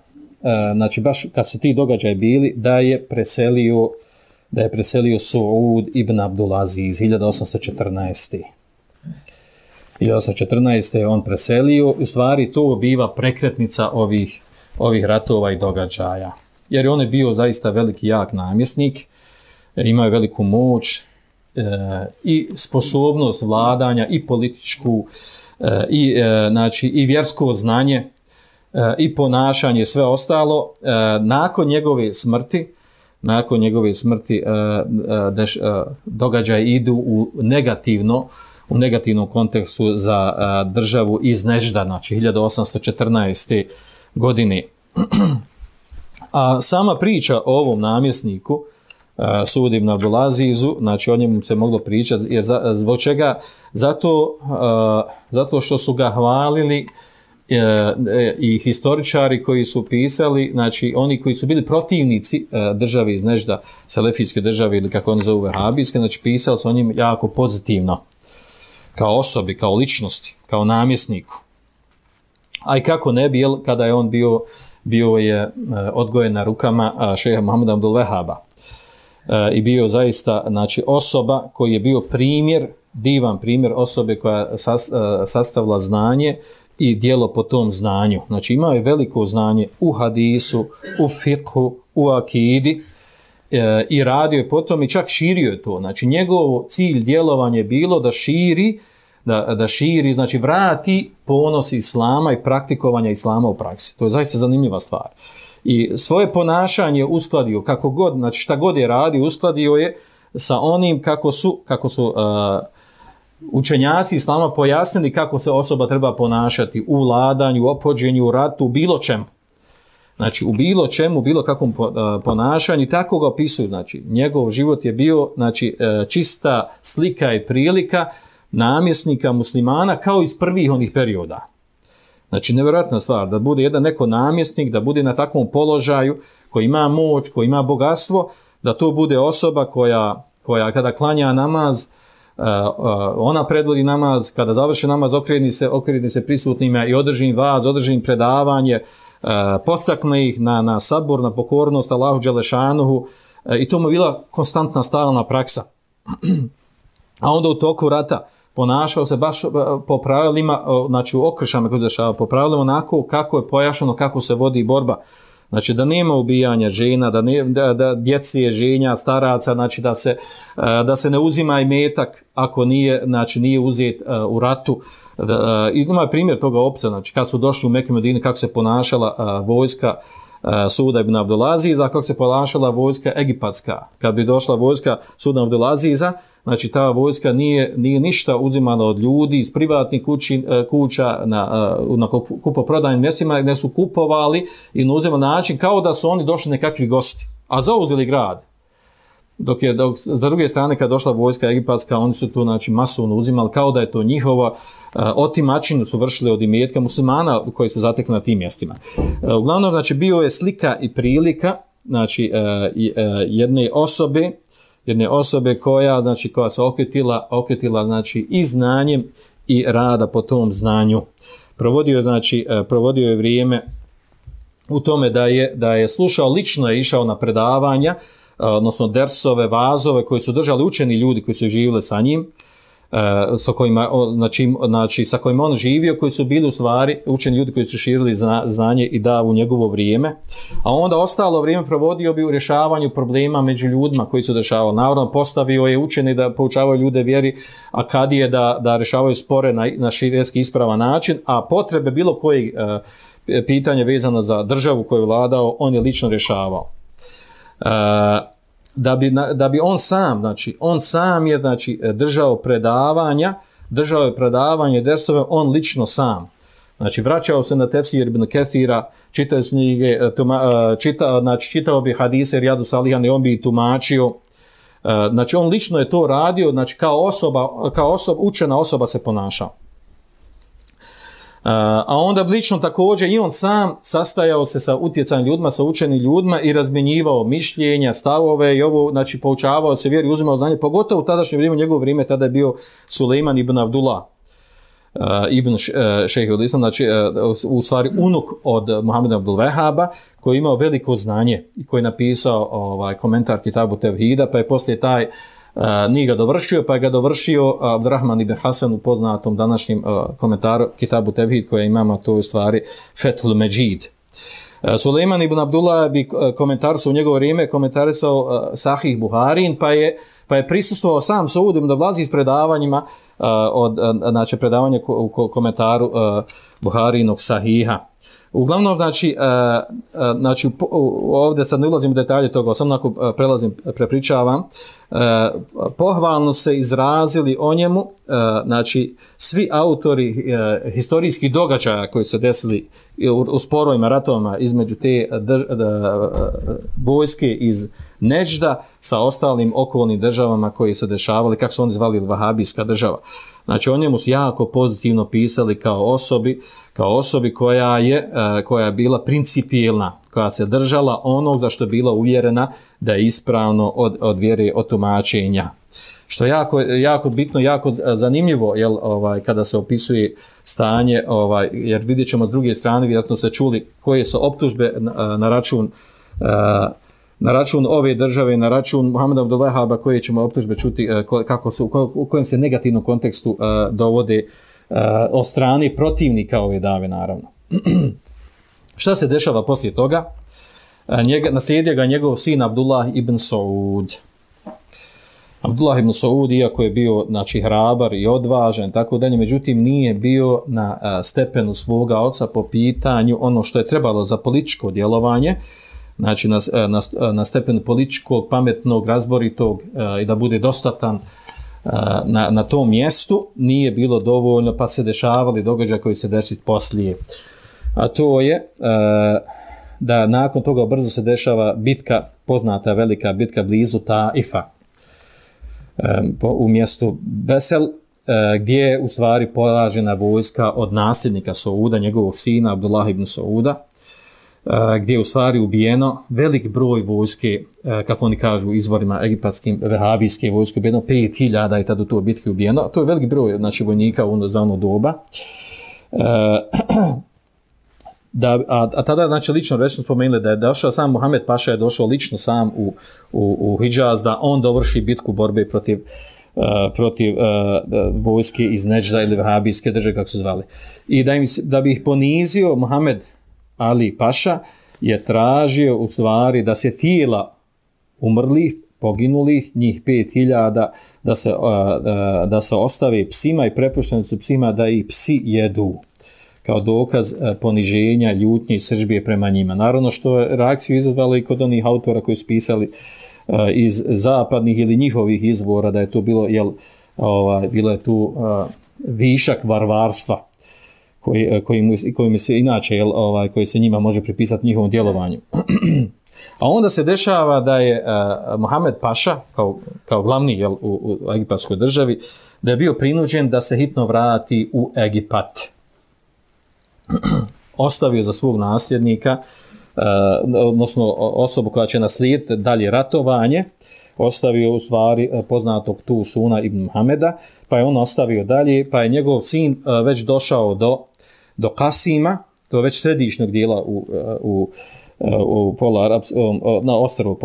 S2: znači baš kad su ti događaji bili, da je preselio Suud ibn Abdulaziz 1814. 1814. je on preselio, u stvari to biva prekretnica ovih ratova i događaja. Jer on je bio zaista veliki jak namjesnik, imao je veliku moć i sposobnost vladanja i političku i vjersko znanje i ponašanje, sve ostalo. Nakon njegove smrti događaji idu u negativnom kontekstu za državu iz Nežda, znači 1814. godine. A sama priča o ovom namjesniku, Suud ibn Abdulazizu, znači o njemu se moglo pričati, zbog čega? Zato što su ga hvalili i historičari koji su pisali, znači oni koji su bili protivnici države iz Nežda, selefijske države ili kako oni zovu vehabijske, znači pisali su o njim jako pozitivno, kao osobi, kao ličnosti, kao namjesniku. A i kako ne bi, kada je on bio je odgojen na rukama šeha Muhameda Abdul Vehaba. I bio zaista znači, osoba koji je bio divan primjer osobe koja sastavila znanje i djelo po tom znanju. Znači imao je veliko znanje u hadisu, u fikhu, u akidi i radio je potom i čak širio je to. Znači njegov cilj djelovanja je bilo da širi, znači vrati ponos islama i praktikovanja islama u praksi. To je zaista zanimljiva stvar. I svoje ponašanje uskladio kako god, znači šta god je radio, uskladio je sa onim kako su učenjaci islama pojasnili kako se osoba treba ponašati u vladanju, u ophođenju, u ratu, u bilo čemu. Znači u bilo čemu, u bilo kakvom ponašanju, tako ga opisuju. Znači njegov život je bio znači, čista slika i prilika namjesnika muslimana kao iz prvih onih perioda. Znači, nevjerojatna stvar, da bude jedan neko namjesnik, da bude na takvom položaju, koji ima moć, koji ima bogatstvo, da to bude osoba koja kada klanja namaz, ona predvodi namaz, kada završi namaz, okreni se prisutnima i održi im vaz, održi im predavanje, postakne ih na sabor, na pokornost Allahu Đelešanuhu, i to mu je bila konstantna, stalna praksa. A onda u toku rata ponašao se baš po pravilima, znači u okršama koji se dešava, po pravilima onako kako je pojašnjeno, kako se vodi borba. Znači da nema ubijanja žena, da djece, ženja, staraca, znači da se ne uzima imetak ako nije uzet u ratu. Ima primjer toga opisa, znači kad su došli u Meku i Medinu, kako se ponašala vojska Suda ibn Abdulaziza, kako se ponašala vojska egipatska. Kad bi došla vojska Suda ibn Abdulaziza, znači ta vojska nije ništa uzimala od ljudi iz privatnih kuća na kupoprodajnim mjestima, gdje su kupovali i na uziman način kao da su oni došli nekakvi gosti, a zauzeli grad. Dok s druge strane kad došla vojska egipatska, oni su to znači masovno uzimali kao da je to njihova, otimačinu su vršili od imetka muslimana koji su zatekli na tim mjestima. Uglavnom znači bio je slika i prilika znači jedne osobe koja se okretila znači i znanjem i rada po tom znanju. Provodio je vrijeme u tome da je slušao, lično je išao na predavanja, odnosno dersove, vazove koje su držali učeni ljudi koji su živjeli sa njim, sa kojima on živio, koji su bili u stvari učeni ljudi koji su širili znanje i davu u njegovo vrijeme, a onda ostalo vrijeme provodio bi u rješavanju problema među ljudima koji su dešavali. Naravno, postavio je učeni da poučavaju ljude vjeri, a kadije da rješavaju spore na širijski ispravan način, a potrebe bilo koji pitanje vezano za državu koju je vladao, on je lično rješavao. Da bi on sam je držao predavanje dersove, on lično sam. Znači, vraćao se na tefsir Ibn Kethira, čitao knjige, čitao bi hadise Rijadu Salihane, on bi i tumačio. Znači, on lično je to radio, znači, kao učena osoba se ponašao. A onda lično također i on sam sastajao se sa utjecajem ljudima, sa učenim ljudima i razmjenjivao mišljenja, stavove i ovo, znači poučavao se vjeri, uzimao znanje, pogotovo u tadašnje vrijeme, u njegovo vrijeme, tada je bio Sulejman ibn Abdullah, ibn Šejhul Islam, znači u stvari unuk od Muhameda Abdul Vehaba, koji je imao veliko znanje i koji je napisao komentar Kitabu Tevhida, pa je poslije taj nije ga dovršio, pa je ga dovršio Abdurrahman ibn Hasan u poznatom današnjem komentaru Kitabu Tevhid koje imamo, to je u stvari Fethul Međid. Sulejman ibn Abdullah bi komentarisao u njegovo vrijeme, komentarisao Sahih Buharin, pa je prisustvovao sam Saud ibn Abdulaziz s predavanjima znači predavanje u komentaru Buharinog Sahiha. Uglavnom, znači ovdje sad ne ulazim u detalje toga, samo onako prepričavam, pohvalno se izrazili o njemu, znači svi autori historijskih događaja koji se desili u sporovima, ratovima između te vojske iz Neđda sa ostalim okolnim državama koji se dešavali, kako su oni zvali vahabijska država. Znači, o njemu su jako pozitivno pisali kao osobi koja je bila principijelna, koja se držala onog za što je bila uvjerena da je ispravno od vjere, od tumačenja. Što je jako bitno, jako zanimljivo, kada se opisuje stanje, jer vidjet ćemo s druge strane, vjerojatno ste čuli koje su optužbe na račun ove države, na račun Muhameda Abdul Vehaba, koje ćemo optužbe čuti u kojem se negativnom kontekstu dovode od strane protivnika ove dave, naravno. Šta se dešava poslije toga? Naslijedio ga njegov sin Abdullah ibn Saud. Abdullah ibn Saud, iako je bio hrabar i odvažan, tako dalje, međutim nije bio na stepenu svoga oca po pitanju ono što je trebalo za političko djelovanje, znači na stepenu političkog, pametnog, razboritog i da bude dostatan na tom mjestu, nije bilo dovoljno, pa se dešavali događaje koji se desiti poslije. A to je da nakon toga brzo se dešava bitka, poznata velika bitka blizu Taifa, u mjestu Besel, gdje je u stvari poražena vojska od nasljednika Sauda, njegovog sina Abdullah ibn Sauda, gdje je u stvari ubijeno velik broj vojske, kako oni kažu izvorima egipatskim, vehabijske vojske, ubijeno 5000 je tada u toj bitki ubijeno, to je velik broj, znači, vojnika za ono doba. A tada, znači, lično rečeno spomenuli da je došao sam Muhammed Paša, je došao lično sam u Hidžaz da on dovrši bitku borbe protiv vojske iz Neđda ili vehabijske države, kako su zvali. I da bi ih ponizio, Muhammed Ali Paša je tražio u stvari da se tijela umrlih, poginulih, njih 5000, da se ostave psima i prepušteni su psima da ih psi jedu, kao dokaz poniženja, ljutnje i sržbije prema njima. Naravno, što je reakciju izazvalo i kod onih autora koji su pisali iz zapadnih ili njihovih izvora, da je to bilo, bilo je tu višak varvarstva koji se inače, koji se njima može pripisati njihovom djelovanju. A onda se dešava da je Muhammed Paša, kao glavni u egipatskoj državi, da je bio prinuđen da se hitno vrati u Egipat. Ostavio za svog nasljednika, odnosno osobu koja će naslijediti dalje ratovanje, ostavio u stvari poznatog tu Suna ibn Muhameda, pa je on ostavio dalje, pa je njegov sin već došao do Kasima, to je već središnjeg dijela u na ostrvu,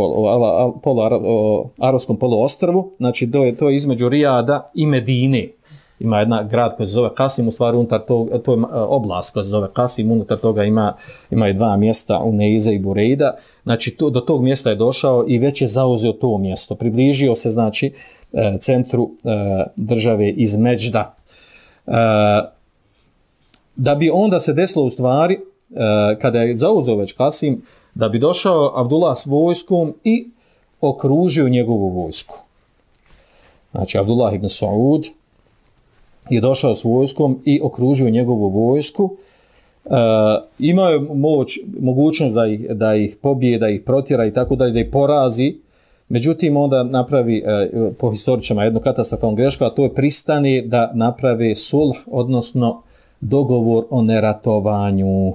S2: arapskom poluostrvu, znači to je između Rijada i Medine. Ima jedan grad koji se zove Kasim, u stvari unutar to je oblast koja se zove Kasim, unutar toga ima i dva mjesta, Uneiza i Bureida, znači do tog mjesta je došao i već je zauzeo to mjesto, približio se znači centru države iz Međda. Da bi onda se desilo u stvari, kada je zauzeo već Kasim, da bi došao Abdullah s vojskom i okružio njegovu vojsku. Znači Abdullah ibn Saud je došao s vojskom i okružio njegovu vojsku. Imao je mogućnost da ih pobije, da ih protjera i tako dalje, da ih porazi. Međutim, onda napravi po historičama jednu katastrofalnu grešku, a to je pristane da naprave sulh, odnosno dogovor o neratovanju.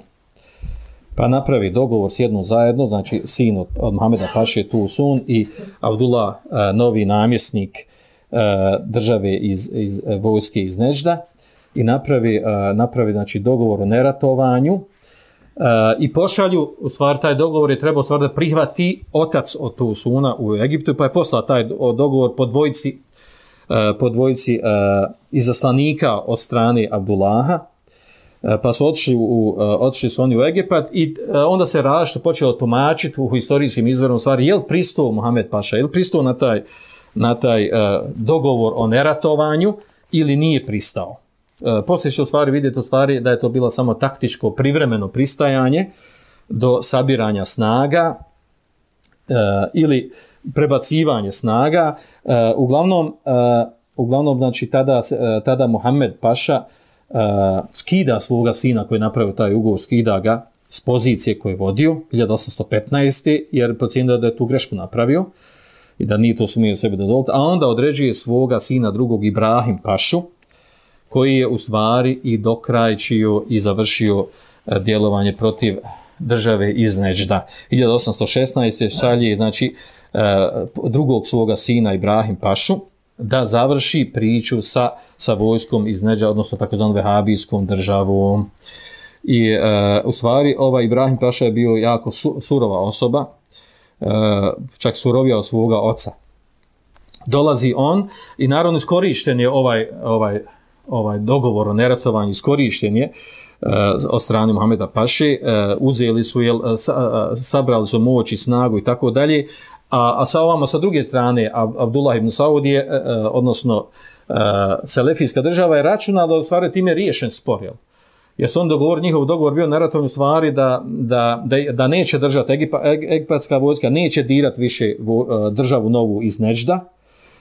S2: Pa napravi dogovor s jednom zajedno, znači sin od Muhameda Paše tu Sun i Abdullah, novi namjesnik države iz vojske iz Nežda, i napravi znači dogovor o neratovanju i pošalju, u stvari taj dogovor je trebao stvari da prihvati otac od tu Suna u Egiptu, pa je poslao taj dogovor po dvojici izaslanika od strane Abdullaha, pa su otišli su oni u Egipat i onda se različito počelo tumačiti u historijskim izvorom stvari, je li pristao Muhammed Paša, je li pristao na taj dogovor o neratovanju ili nije pristao. Poslije će u stvari vidjeti u stvari da je to bilo samo taktičko privremeno pristajanje do sabiranja snaga ili prebacivanje snaga. Uglavnom znači tada Muhammed Paša skida svoga sina koji je napravio taj ugovor, skida ga s pozicije koje je vodio 1815. jer procijenio da je tu grešku napravio i da nije to smio sebi dozvoliti, a onda određuje svoga sina drugog Ibrahim Pašu, koji je u stvari i dokrajčio i završio djelovanje protiv države iz Neđda. 1816. šalje znači drugog svoga sina Ibrahim Pašu da završi priču sa vojskom iz Neđda, odnosno takozvanom vehabijskom državom. I u stvari ovaj Ibrahim Paša je bio jako surova osoba, čak surovija od svoga oca. Dolazi on i naravno iskorišten je ovaj dogovor o neratovanju, iskorišten je od strane Muhameda Paše, uzeli su, sabrali su moć i snagu i tako dalje, a sa druge strane Abdullah ibn Saud je, odnosno selefijska država je računala da u stvari time riješen spor, jer su on njihov dogovor bio neratovanju stvari da neće držati egipatska vojska, neće dirati više državu novu iz Neđda.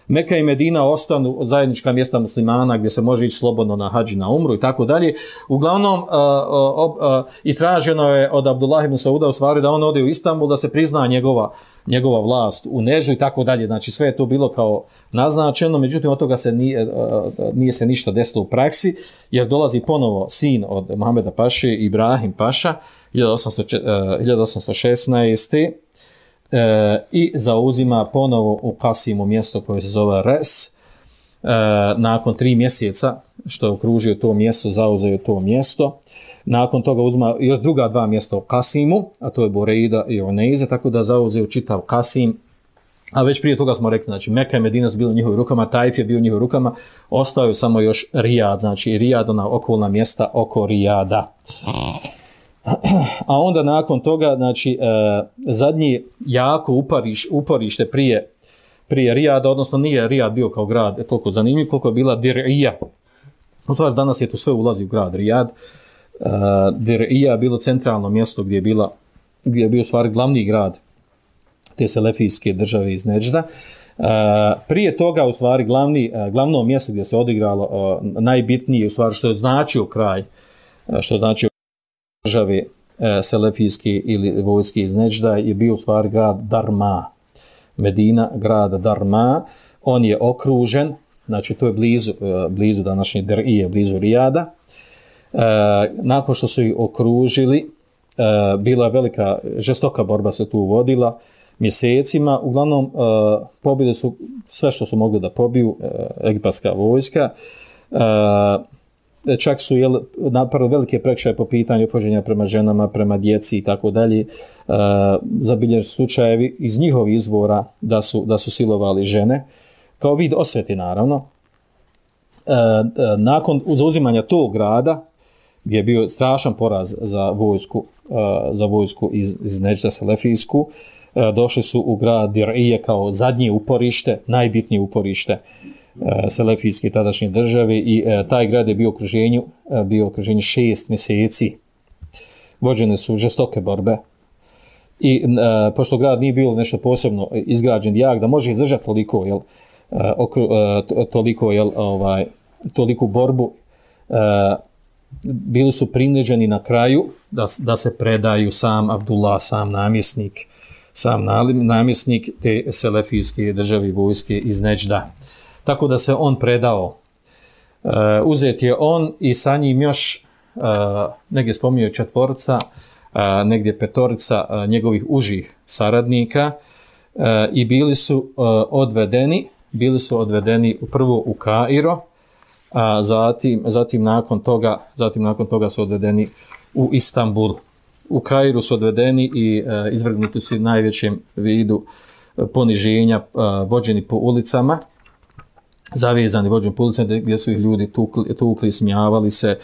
S2: Meka i Medina ostanu zajednička mjesta muslimana gdje se može ići slobodno na hadž i na umru i tako dalje. Uglavnom i traženo je od Abdullah ibn Sauda u stvari da on ode u Istanbul, da se prizna njegova vlast u Neždu i tako dalje. Znači sve je to bilo kao naznačeno, međutim od toga nije se ništa desilo u praksi, jer dolazi ponovo sin od Muhameda Paše, Ibrahim Paša, 1816. I zauzima ponovo u Kasimu mjesto koje se zove Res. Nakon 3 mjeseca što je okružio to mjesto, zauzeo to mjesto. Nakon toga uzima još druga 2 mjesta u Kasimu, a to je Bureida i Uneiza, tako da zauzeo čitav Kasim. A već prije toga smo rekli, znači Meka i Medina su bili u njihovim rukama, Tajf je bio u njihovim rukama, ostao je samo još Rijad, znači Rijad, ona okolna mjesta oko Rijada. A onda nakon toga, znači, zadnji jako uporište prije Rijada, odnosno nije Rijad bio kao grad toliko zanimljiv, koliko je bila Dir'ija. U stvari, danas je to sve ulazi u grad Rijad. Dir'ija je bilo centralno mjesto gdje je bio u stvari glavni grad te selefijske države iz Neđda. Prije toga, u stvari, glavno mjesto gdje se odigralo najbitnije, u stvari, što je značio kraj, što je značio države selefijske ili vojske iz Neđda, je bio u stvari grad Darma. Medina, grad Darma. On je okružen, znači to je blizu današnje Dir'ije, blizu Rijada. Nakon što su ih okružili, bila velika, žestoka borba se tu vodila. mjesecima. Uglavnom pobili su sve što su mogli da pobiju, egipatska vojska. Čak su napravili velike prekršaje po pitanju ophođenja prema ženama, prema djeci i tako dalje. Zabilježeni slučajevi iz njihovih izvora da su silovali žene, kao vid osvete naravno. Nakon zauzimanja tog grada, gdje je bio strašan poraz za vojsku iz Neđda selefijsku, došli su u grad Dir'ije kao zadnje uporište, najbitnije uporište selefijske tadašnje države, i taj grad je bio u okruženju 6 mjeseci. Vođene su žestoke borbe i pošto grad nije bilo nešto posebno izgrađen jak da može izdržati toliku borbu, bili su prinuđeni na kraju da se predaju sam Abdullah, sam namjesnik te selefijske države vojske iz Neđda. Tako da se on predao. Uzet je on i sa njim još negdje spominjao 4, negdje 5 njegovih užih saradnika, i bili su odvedeni prvo u Kairo, a zatim nakon toga su odvedeni u Istanbul. U Kairu su odvedeni i izvrgnuti su najvećem vidu poniženja, vođeni po ulicama, zavezani vođeni po ulicama, gdje su ih ljudi tukli, smijavali se,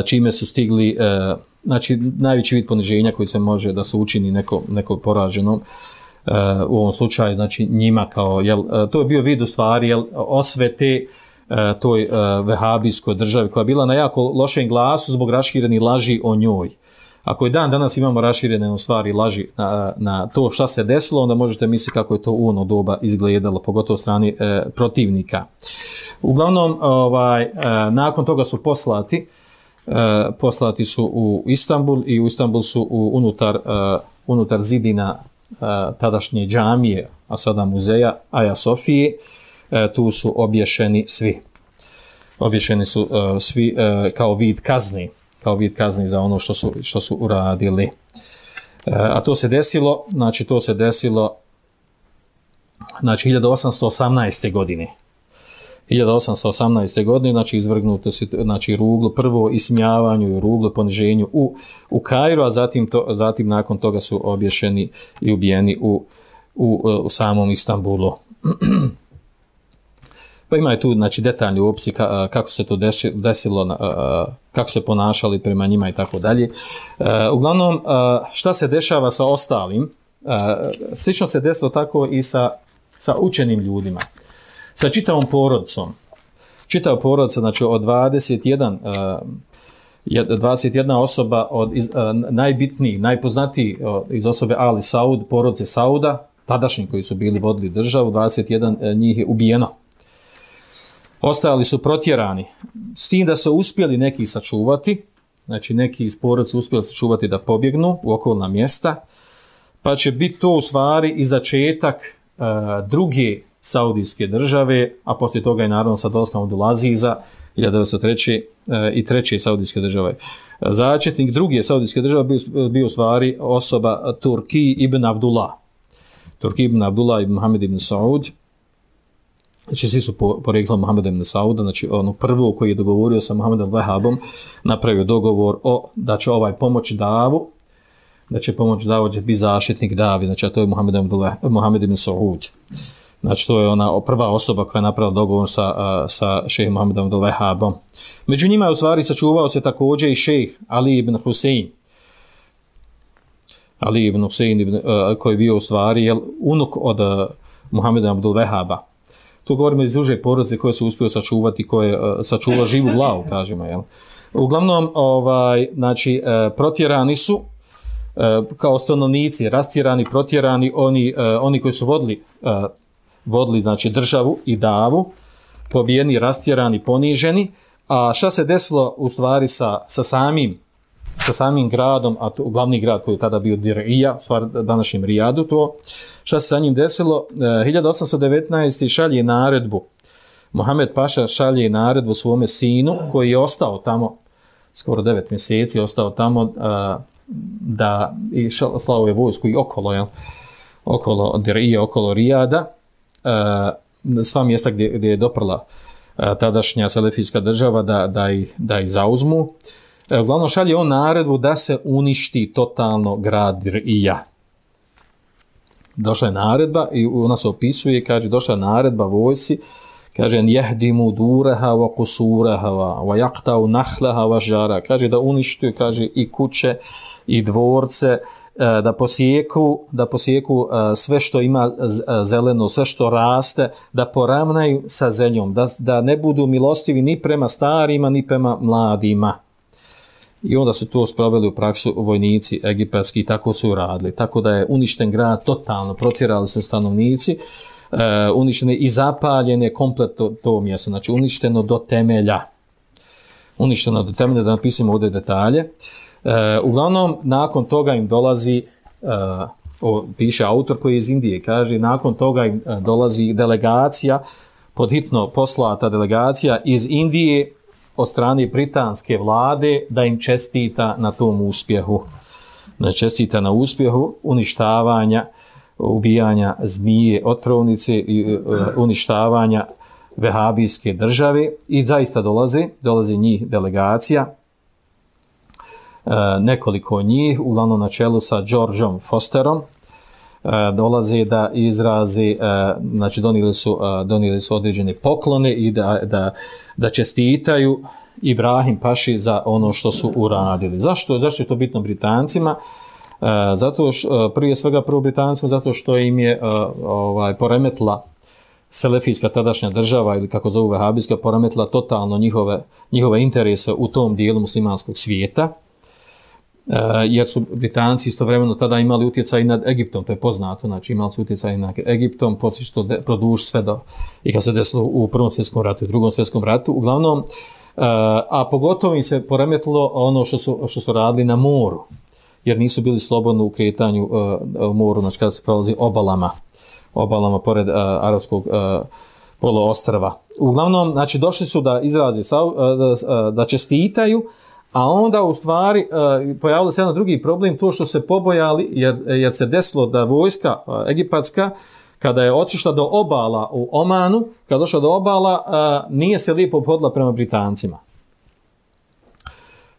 S2: čime su stigli, znači najveći vid poniženja koji se može da se učini nekom poraženom, u ovom slučaju, znači njima kao, to je bio vid u stvari osvete toj vehabijskoj državi, koja je bila na jako lošem glasu zbog raširenih laži o njoj. Ako je danas imamo raširene stvari laži na to šta se desilo, onda možete misliti kako je to u ono doba izgledalo, pogotovo strani protivnika. Uglavnom, nakon toga su poslati su u Istanbul, i u Istanbul su unutar zidina tadašnje džamije, a sada muzeja Aja Sofije, tu su obješeni svi. Obješeni su svi kao vid kazni za ono što su uradili. A to se desilo 1818. godine. 1818. godine, znači izvrgnuto se ruglu, prvo ismijavanju i ruglu, poniženju u Kairu, a zatim nakon toga su obješeni i ubijeni u samom Istanbulu. Pa ima tu detaljni opisi kako se to desilo, kako se ponašali prema njima i tako dalje. Uglavnom, šta se dešava sa ostalim? Slično se desilo tako i sa učenim ljudima, sa čitavom porodicom. Čitava porodica, znači od 21 osoba, najbitniji, najpoznatiji iz osobe Ali Saud, porodice Sauda, tadašnji koji su bili vodili državu, 21 njih je ubijeno. Ostali su protjerani, s tim da su uspjeli neki sačuvati, znači neki iz porodice uspjeli sačuvati da pobjegnu u okolna mjesta, pa će biti to u stvari i začetak druge saudijske države, a poslije toga je naravno sa dolaskom Abdulaziza 1903. I treće saudijske države. Začetnik druge saudijske države bio u stvari osoba Turki ibn Abdullah. Turki ibn Abdullah ibn Mohamed ibn Saud. Znači svi su poreklom Mohameda ibn Sauda, znači ono prvo koji je dogovorio sa Mohamedom Vahabom, napravio dogovor da će pomoći Davu, da će biti zaštitnik Davi, znači a to je Mohamed ibn Saud. Znači to je ona prva osoba koja je napravila dogovor sa šejhom Mohamedom Vahabom. Među njima je u stvari sačuvao se također i šejh Ali ibn Husein. Ali ibn Husein koji je bio u stvari unuk od Mohameda Abdul Vahaba. Tu govorimo iz uže porodice koje su uspio sačuvati, koje je sačuvao živu glavu, kažemo. Uglavnom, znači, protjerani su kao stanovnici, rastjerani, protjerani, oni koji su vodili znači, državu i Davu, pobijeni, rastjerani, poniženi. A šta se desilo u stvari sa samim gradom, a to glavni grad koji je tada bio Dir'ija, u stvari današnjem Rijadu, to šta se sa njim desilo, 1819. šalje naredbu, Mohamed Paša šalje naredbu svome sinu koji je ostao tamo, skoro 9 mjeseci ostao tamo, da i slao je vojsku i okolo, okolo Dirije, okolo Rijada, sva mjesta gdje je doprla tadašnja selefijska država da ih zauzmu. Uglavnom šalje on naredbu da se uništi totalno grad Dirija. Došla je naredba i ona se opisuje, kaže, došla je naredba vojsi, kaže, jehdimu dureha wa kusureha wa jaktau nahlaha wa žara, kaže, da uništuju, kaže, i kuće i dvorce, da posjeku sve što ima zeleno, sve što raste, da poravnaju sa zemljom, da ne budu milostivi ni prema starima, ni prema mladima. I onda su to sproveli u praksu vojnici egipatski i tako su uradili. Tako da je uništen grad totalno, protjerali su stanovnici, uništene i zapaljene komplet to mjesto, znači uništeno do temelja. Uništeno do temelja, da napisimo ovdje detalje. Uglavnom, nakon toga im dolazi, piše autor koji je iz Indije, kaže, nakon toga im dolazi delegacija, podhitno poslata delegacija iz Indije od strane britanske vlade da im čestita na tom uspjehu. Da čestita na uspjehu uništavanja, ubijanja zmije, otrovnice i uništavanja vehabijske države i zaista dolazi njih delegacija. Nekoliko njih, uglavnom na čelu sa Georgeom Fosterom, dolaze da izrazi, znači donijeli su određene poklone i da čestitaju Ibrahim Paši za ono što su uradili. Zašto je to bitno Britancima? Zato prije svega Britancima, zato što im je poremetila selefijska tadašnja država ili kako zovu vehabijska, poremetila totalno njihove interese u tom dijelu muslimanskog svijeta. Jer su Britanci istovremeno tada imali utjecaj nad Egiptom, to je poznato, znači imali su utjecaj nad Egiptom, poslije što produži sve do, i kad se desilo u Prvom svjetskom ratu i Drugom svjetskom ratu, uglavnom, a pogotovo im se poremetilo ono što su radili na moru, jer nisu bili slobodni u kretanju moru, znači kada se prolazi obalama pored arapskog poloostrva. Uglavnom, znači došli su da izrazi, da čestitaju, a onda u stvari pojavilo se jedan drugi problem, to što se pobojali, jer se desilo da vojska egipatska, kada je otišla do obala u Omanu, kada došla do obala, nije se lijepo obhodila prema Britancima.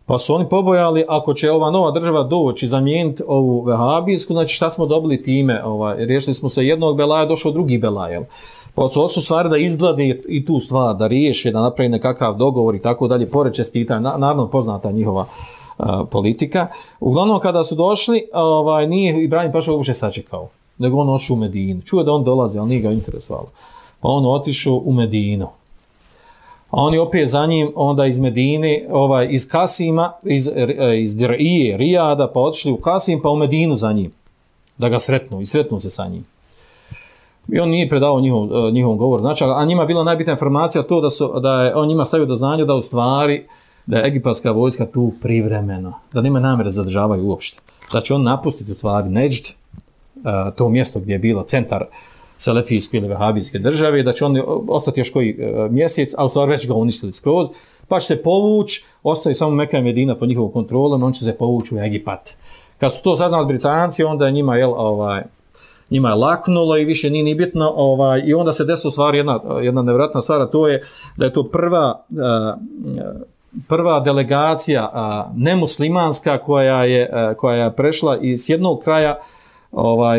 S2: Pa su oni pobojali, ako će ova nova država doći, zamijeniti ovu vehabijsku, znači šta smo dobili time? Riješili smo se jednog belaja, došao drugi belaj. Pa su stvari da izglade i tu stvar, da riješe, da napravi nekakav dogovor i tako dalje, pored čestitanja, naravno poznata njihova politika. Uglavnom, kada su došli, nije Ibrahim Paša uopće sačekao, nego on otišao u Medinu. Čuo da on dolazi, ali nije ga interesovalo. Pa on otišao u Medinu. A oni opet za njim, onda iz Medine, iz Kasima, iz Dirije, Rijada, pa otišli u Kasim, pa u Medinu za njim, da ga sretnu, i sretnu se sa njim. I on nije predao njihov govor. Znači, a njima bila najbitna informacija to da je on njima stavio do znanja da u stvari, da je egipatska vojska tu privremeno, da nema namjere zadržavaju uopšte. Da će on napustiti u stvari Neđd, to mjesto gdje je bilo centar selefijske ili vehabijske države, da će on ostati još koji mjesec, a u stvari već ga uništili skroz, pa će se povući, ostaje samo Meka i Medina pod njihovom kontrolom, on će se povući u Egipat. Kad su to saznali Britanci, onda je njima je laknulo i više nije ni bitno, i onda se desila u stvari jedna nevjerojatna stvar, to je da je to prva delegacija nemuslimanska koja je prešla iz jednog kraja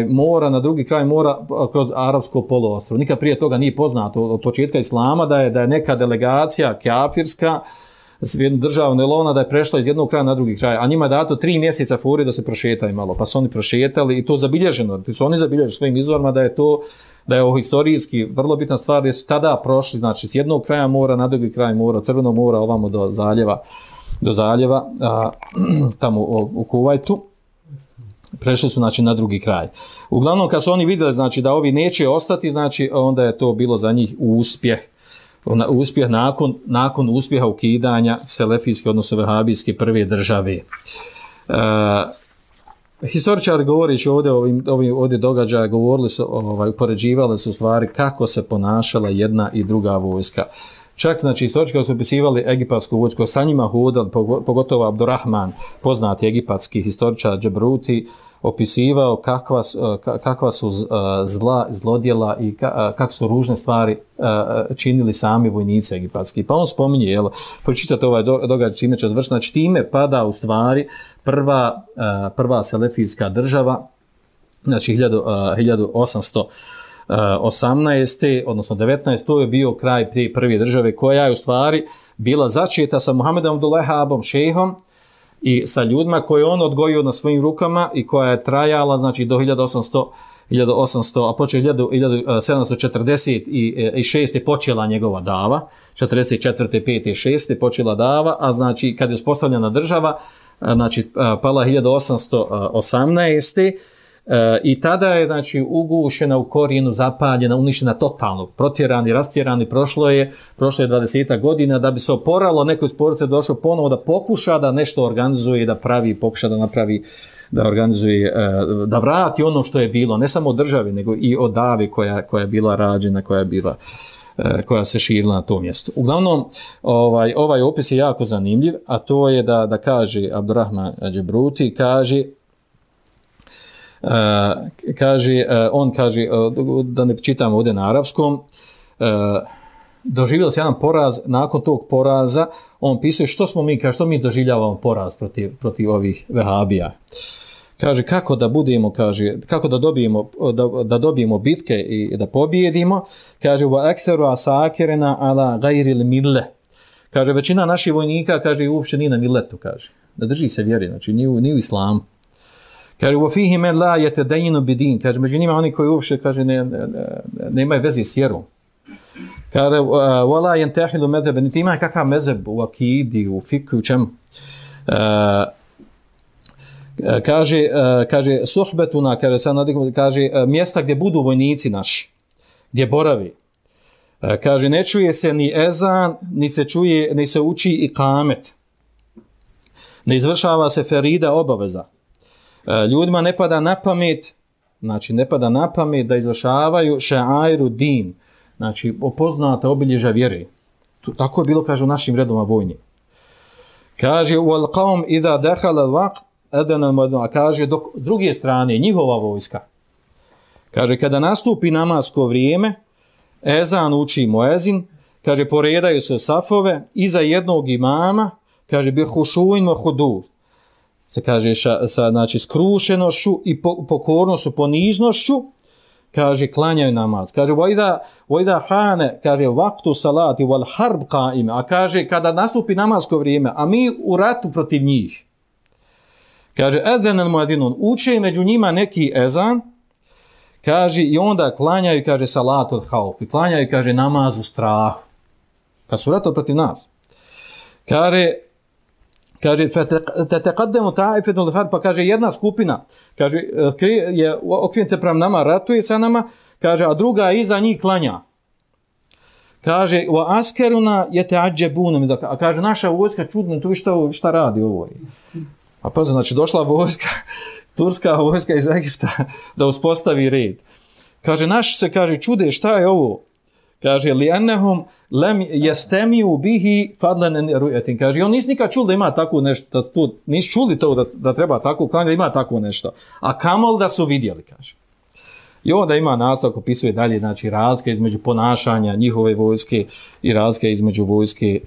S2: mora na drugi kraj mora kroz arapsko poluostrvo. Nikad prije toga nije poznato od početka islama da je neka delegacija kafirska državna elona da je prešla iz jednog kraja na drugi kraj, a njima je dato 3 mjeseca furi da se prošetaju malo, pa su oni prošetali i to zabilježeno, su oni zabilježili svojim izvorima da je ovo historijski vrlo bitna stvar, da su tada prošli, znači s jednog kraja mora na drugi kraj mora, od Crvenog mora ovamo do zaljeva tamo u Kuvajtu. Prešli su znači na drugi kraj. Uglavnom kad su oni vidjeli znači da ovi neće ostati, znači onda je to bilo za njih uspjeh nakon uspjeha ukidanja selefijske odnosno vehabijske prve države. Historičari govoreći ovdje događaja govorili su, upoređivali su u stvari kako se ponašala jedna i druga vojska. Čak, znači, istoričari su opisivali egipatsku vojsku, sa njima hodali, pogotovo Abdurrahman, poznati egipatski historičar Džebruti, opisivao kakva su zlodjela i kako su ružne stvari činili sami vojnici egipatski. Pa on spominje, jel, pročitate ovaj događaj čime će odvršiti, znači time pada u stvari prva selefijska država, znači 1818. odnosno 19. to je bio kraj te prve države koja je u stvari bila začeta sa Muhammedom Abdullehabom, šejhom, i sa ljudima koje on odgojio na svojim rukama i koja je trajala znači do 1800, a počeo 1746. je počela njegova dava, 44. 5. 6. počela dava, a znači kad je uspostavljena država, znači pala 1818. I tada je znači ugušena u korijenu, zapaljena, uništena totalno, protjerani, rastjerani, prošlo je 20 godina da bi se oporalo, neko iz porodice došao ponovo da pokuša da nešto organizuje, da pravi, pokuša da napravi, da organizuje, da vrati ono što je bilo, ne samo od državi, nego i od davi koja je bila rađena, koja se širila na tom mjestu. Uglavnom, ovaj opis je jako zanimljiv, a to je da kaže Abdurrahman Džebruti, on kaže, da ne čitam ovdje na arapskom, doživjeli se jedan poraz, nakon tog poraza, on pisuje što mi doživljavamo poraz protiv ovih vehabija. Kaže, kako da dobijemo bitke i da pobijedimo, kaže, wa aksaru asakirina ala ghayril mille. Kaže, većina naših vojnika, kaže, uopće nije na milletu, kaže, da drži se vjeri, znači ni u islamu. Kaže, وَفِيهِ مَنْ لَا يَتَدَيِّنُ بِدِينَ. Kaže, među njima oni koji uopšte, kaže, nemaju veze s vjerom. Kaže, وَلَا يَنْتَحِلُ مَذَبَ. Niti ima kakav mezeb u akidi, u fiku, u čemu. Kaže, suhbetuna, kaže, mjesta gdje budu vojnici naši, gdje boravi. Kaže, ne čuje se ni ezan, ni se uči i kamet. Ne izvršava se ferida obaveza. Ljudima ne pada na pamet da izvršavaju še'airu din, znači opoznata obilježja vjere. Tako je bilo, kaže, u našim redovima vojni. Kaže, wal qawm idha dakhala al-waqt adana al-mu'adhdhin. A kaže, dok s druge strane njihova vojska, kaže, kada nastupi namasko vrijeme, ezan uči muezin, kaže, poredaju se safove iza jednog imama, kaže, bi hushuin wa hudur. Se kaže znači skrušenošću i pokornošću, poniznošću, kaže, klanjaju namaz. Kaže, vojda hane, kaže, vaktu salati wal harb qaim, a kaže, kada nastupi namasko vrijeme, a mi u ratu protiv njih, kaže, ezan al muadinun, uče među njima neki ezan, kaže, i onda klanjaju, kaže, salatul hauf, i klanjaju, kaže, namaz u strahu, kad su ratu protiv nas. Kaže, teqaddemu ta'ifetun al-harb, pa kaže, jedna skupina, kaže, je okrenuta prema nama, ratuje sa nama, kaže, a druga iza njih klanja. Kaže, wa askeruna yata'ajjabuna, a kaže, naša vojska čudno, tu šta radi ovo. A pa znači, došla vojska, turska vojska iz Egipta, da uspostavi red. Kaže, naš se, kaže, čude, šta je ovo? Kaže, li'annahum lam yastami'u bihi fadlan ru'yatin. Kaže, on nisu nikad čuli da ima tako nešto, nisu čuli to da treba tako klanjati, da ima tako nešto. A kamol da su vidjeli, kaže. I onda ima nastavak, opisuje dalje, znači, razlika između ponašanja njihove vojske i razlika između vojske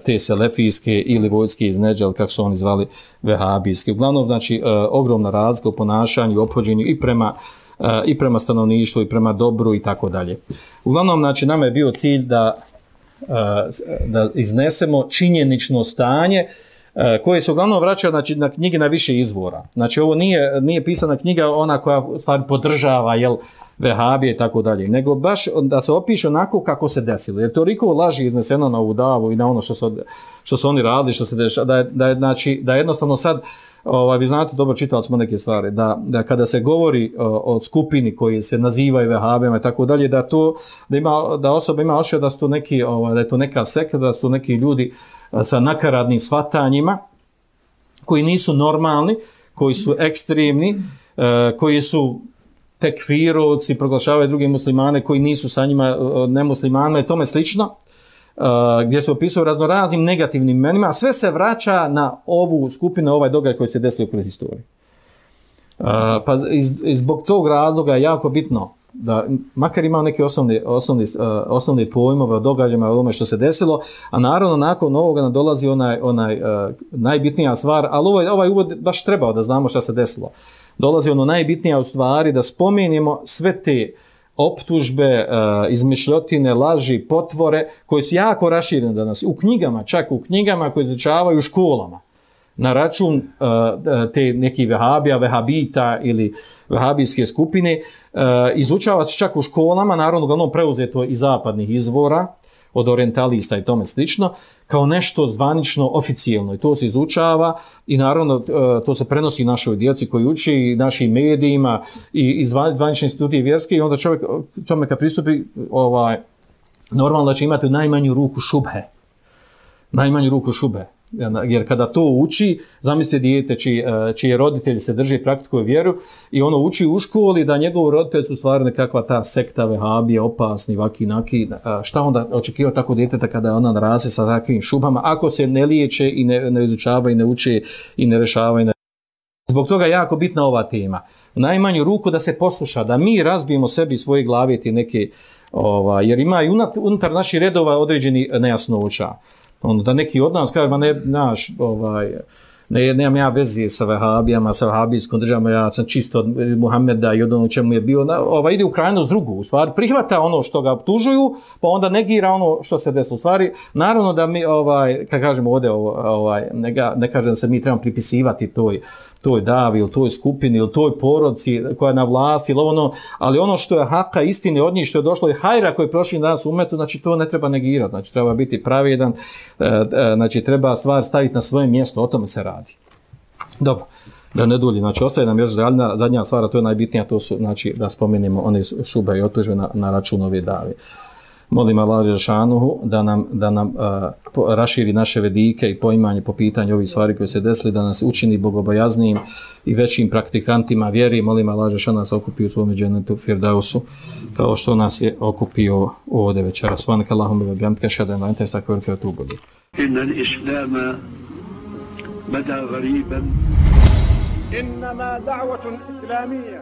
S2: te selefijske ili vojske iz Nedžel, kako su oni zvali, vehabijske. Uglavnom, znači, ogromna razlika u ponašanju i ophođenju i prema stanovništvu i prema dobru i tako dalje. Uglavnom, znači, nama je bio cilj da iznesemo činjenično stanje koje se uglavnom vraća, znači, na knjige na više izvora. Znači, ovo nije pisana knjiga ona koja stvari podržava, vehabije i tako dalje, nego baš da se opiše onako kako se desilo. Jer toliko laži izneseno na ovu davu i na ono što su oni radili, što se dešava, da jednostavno sad, vi znate, dobro, čitali smo neke stvari, da kada se govori o skupini koji se nazivaju vehabijama i tako dalje, da osoba ima osjećaj da su to neki, da je to neka sekta, da su to neki ljudi sa nakaradnim shvatanjima, koji nisu normalni, koji su ekstremni, koji su tekfirovci, proglašavaju druge muslimane koji nisu sa njima nemuslimanima i tome slično. gdje se opisuju raznoraznim negativnim imenima, sve se vraća na ovu skupinu, ovaj događaj koji se desio kroz historiju. Pa zbog tog razloga je jako bitno da makar imao neke osnovne pojmove o događajima, o tome što se desilo, a naravno nakon ovoga nam dolazi onaj najbitnija stvar, ali ovaj uvod baš trebao da znamo šta se desilo. Dolazi ono najbitnija u stvari da spomenemo sve te optužbe, izmišljotine, laži, potvore koje su jako raširene danas u knjigama, čak u knjigama koje izučavaju u školama na račun te nekih vehabita ili vehabijske skupine, izučava se čak u školama, naravno uglavnom preuzeto iz zapadnih izvora, od orientalista i tome slično, kao nešto zvanično, oficijelno. I to se izučava i naravno to se prenosi našoj djeci koji uči, i našim medijima i zvanične institucije vjerske i onda čovjek kad pristupi normalno da će imati u najmanju ruku šubhe. Najmanju ruku šubhe. Jer kada to uči, zamislite dijete čije roditelji se drže i praktikuju vjeru i ono uči u školi da njegov roditelj su stvari nekakva ta sekta vehabija, opasni, vaki, naki, šta onda očekivao tako djeteta kada ona narase sa takvim šubama, ako se ne liječe i ne izučava i ne uče i ne rešava. Zbog toga je jako bitna ova tema. U najmanju ruku da se posluša, da mi razbijemo sebi svoje glave ti neke, jer ima i unutar naših redova određeni nejasnoća. Da neki od nas kaže, nemam ja veze sa vehabijama, sa vehabijskom državom, ja sam čisto od Muhameda i od ono čemu je bio, ide u krajnost drugu, u stvari prihvata ono što ga optužuju, pa onda negira ono što se desilo. U stvari, naravno da mi, kad kažemo ovdje, ne kažem da se mi trebamo pripisivati toj davi ili toj skupini ili toj porodci koja je na vlasti, ali ono što je haka istine od njih, što je došlo i hajra koji je prošli danas u umetu, znači to ne treba negirati, znači treba biti pravedan, znači treba stvar staviti na svoje mjesto, o tome se radi. Dobro, da ne dulji, znači ostaje nam još zadnja stvar, a to je najbitnija, to su, znači, da spomenemo one šube i otužbe na račun ove dave. Molim Allah Žešanuhu da nam raširi naše vedike i poimanje po pitanju ovih stvari koje se desili, da nas učini bogobojaznijim i većim praktikantima vjeri. Molim Allah Žešanuhu da se okupi u svome džennetu Firdausu, kao što nas je okupio ovdje večera. Subhanaka Allahumma wa bihamdika, ashhadu an la ilaha illa anta, astaghfiruka wa atubu ilayk.
S3: Inna al-islama bada ghariban.
S1: إنما دعوة إسلامية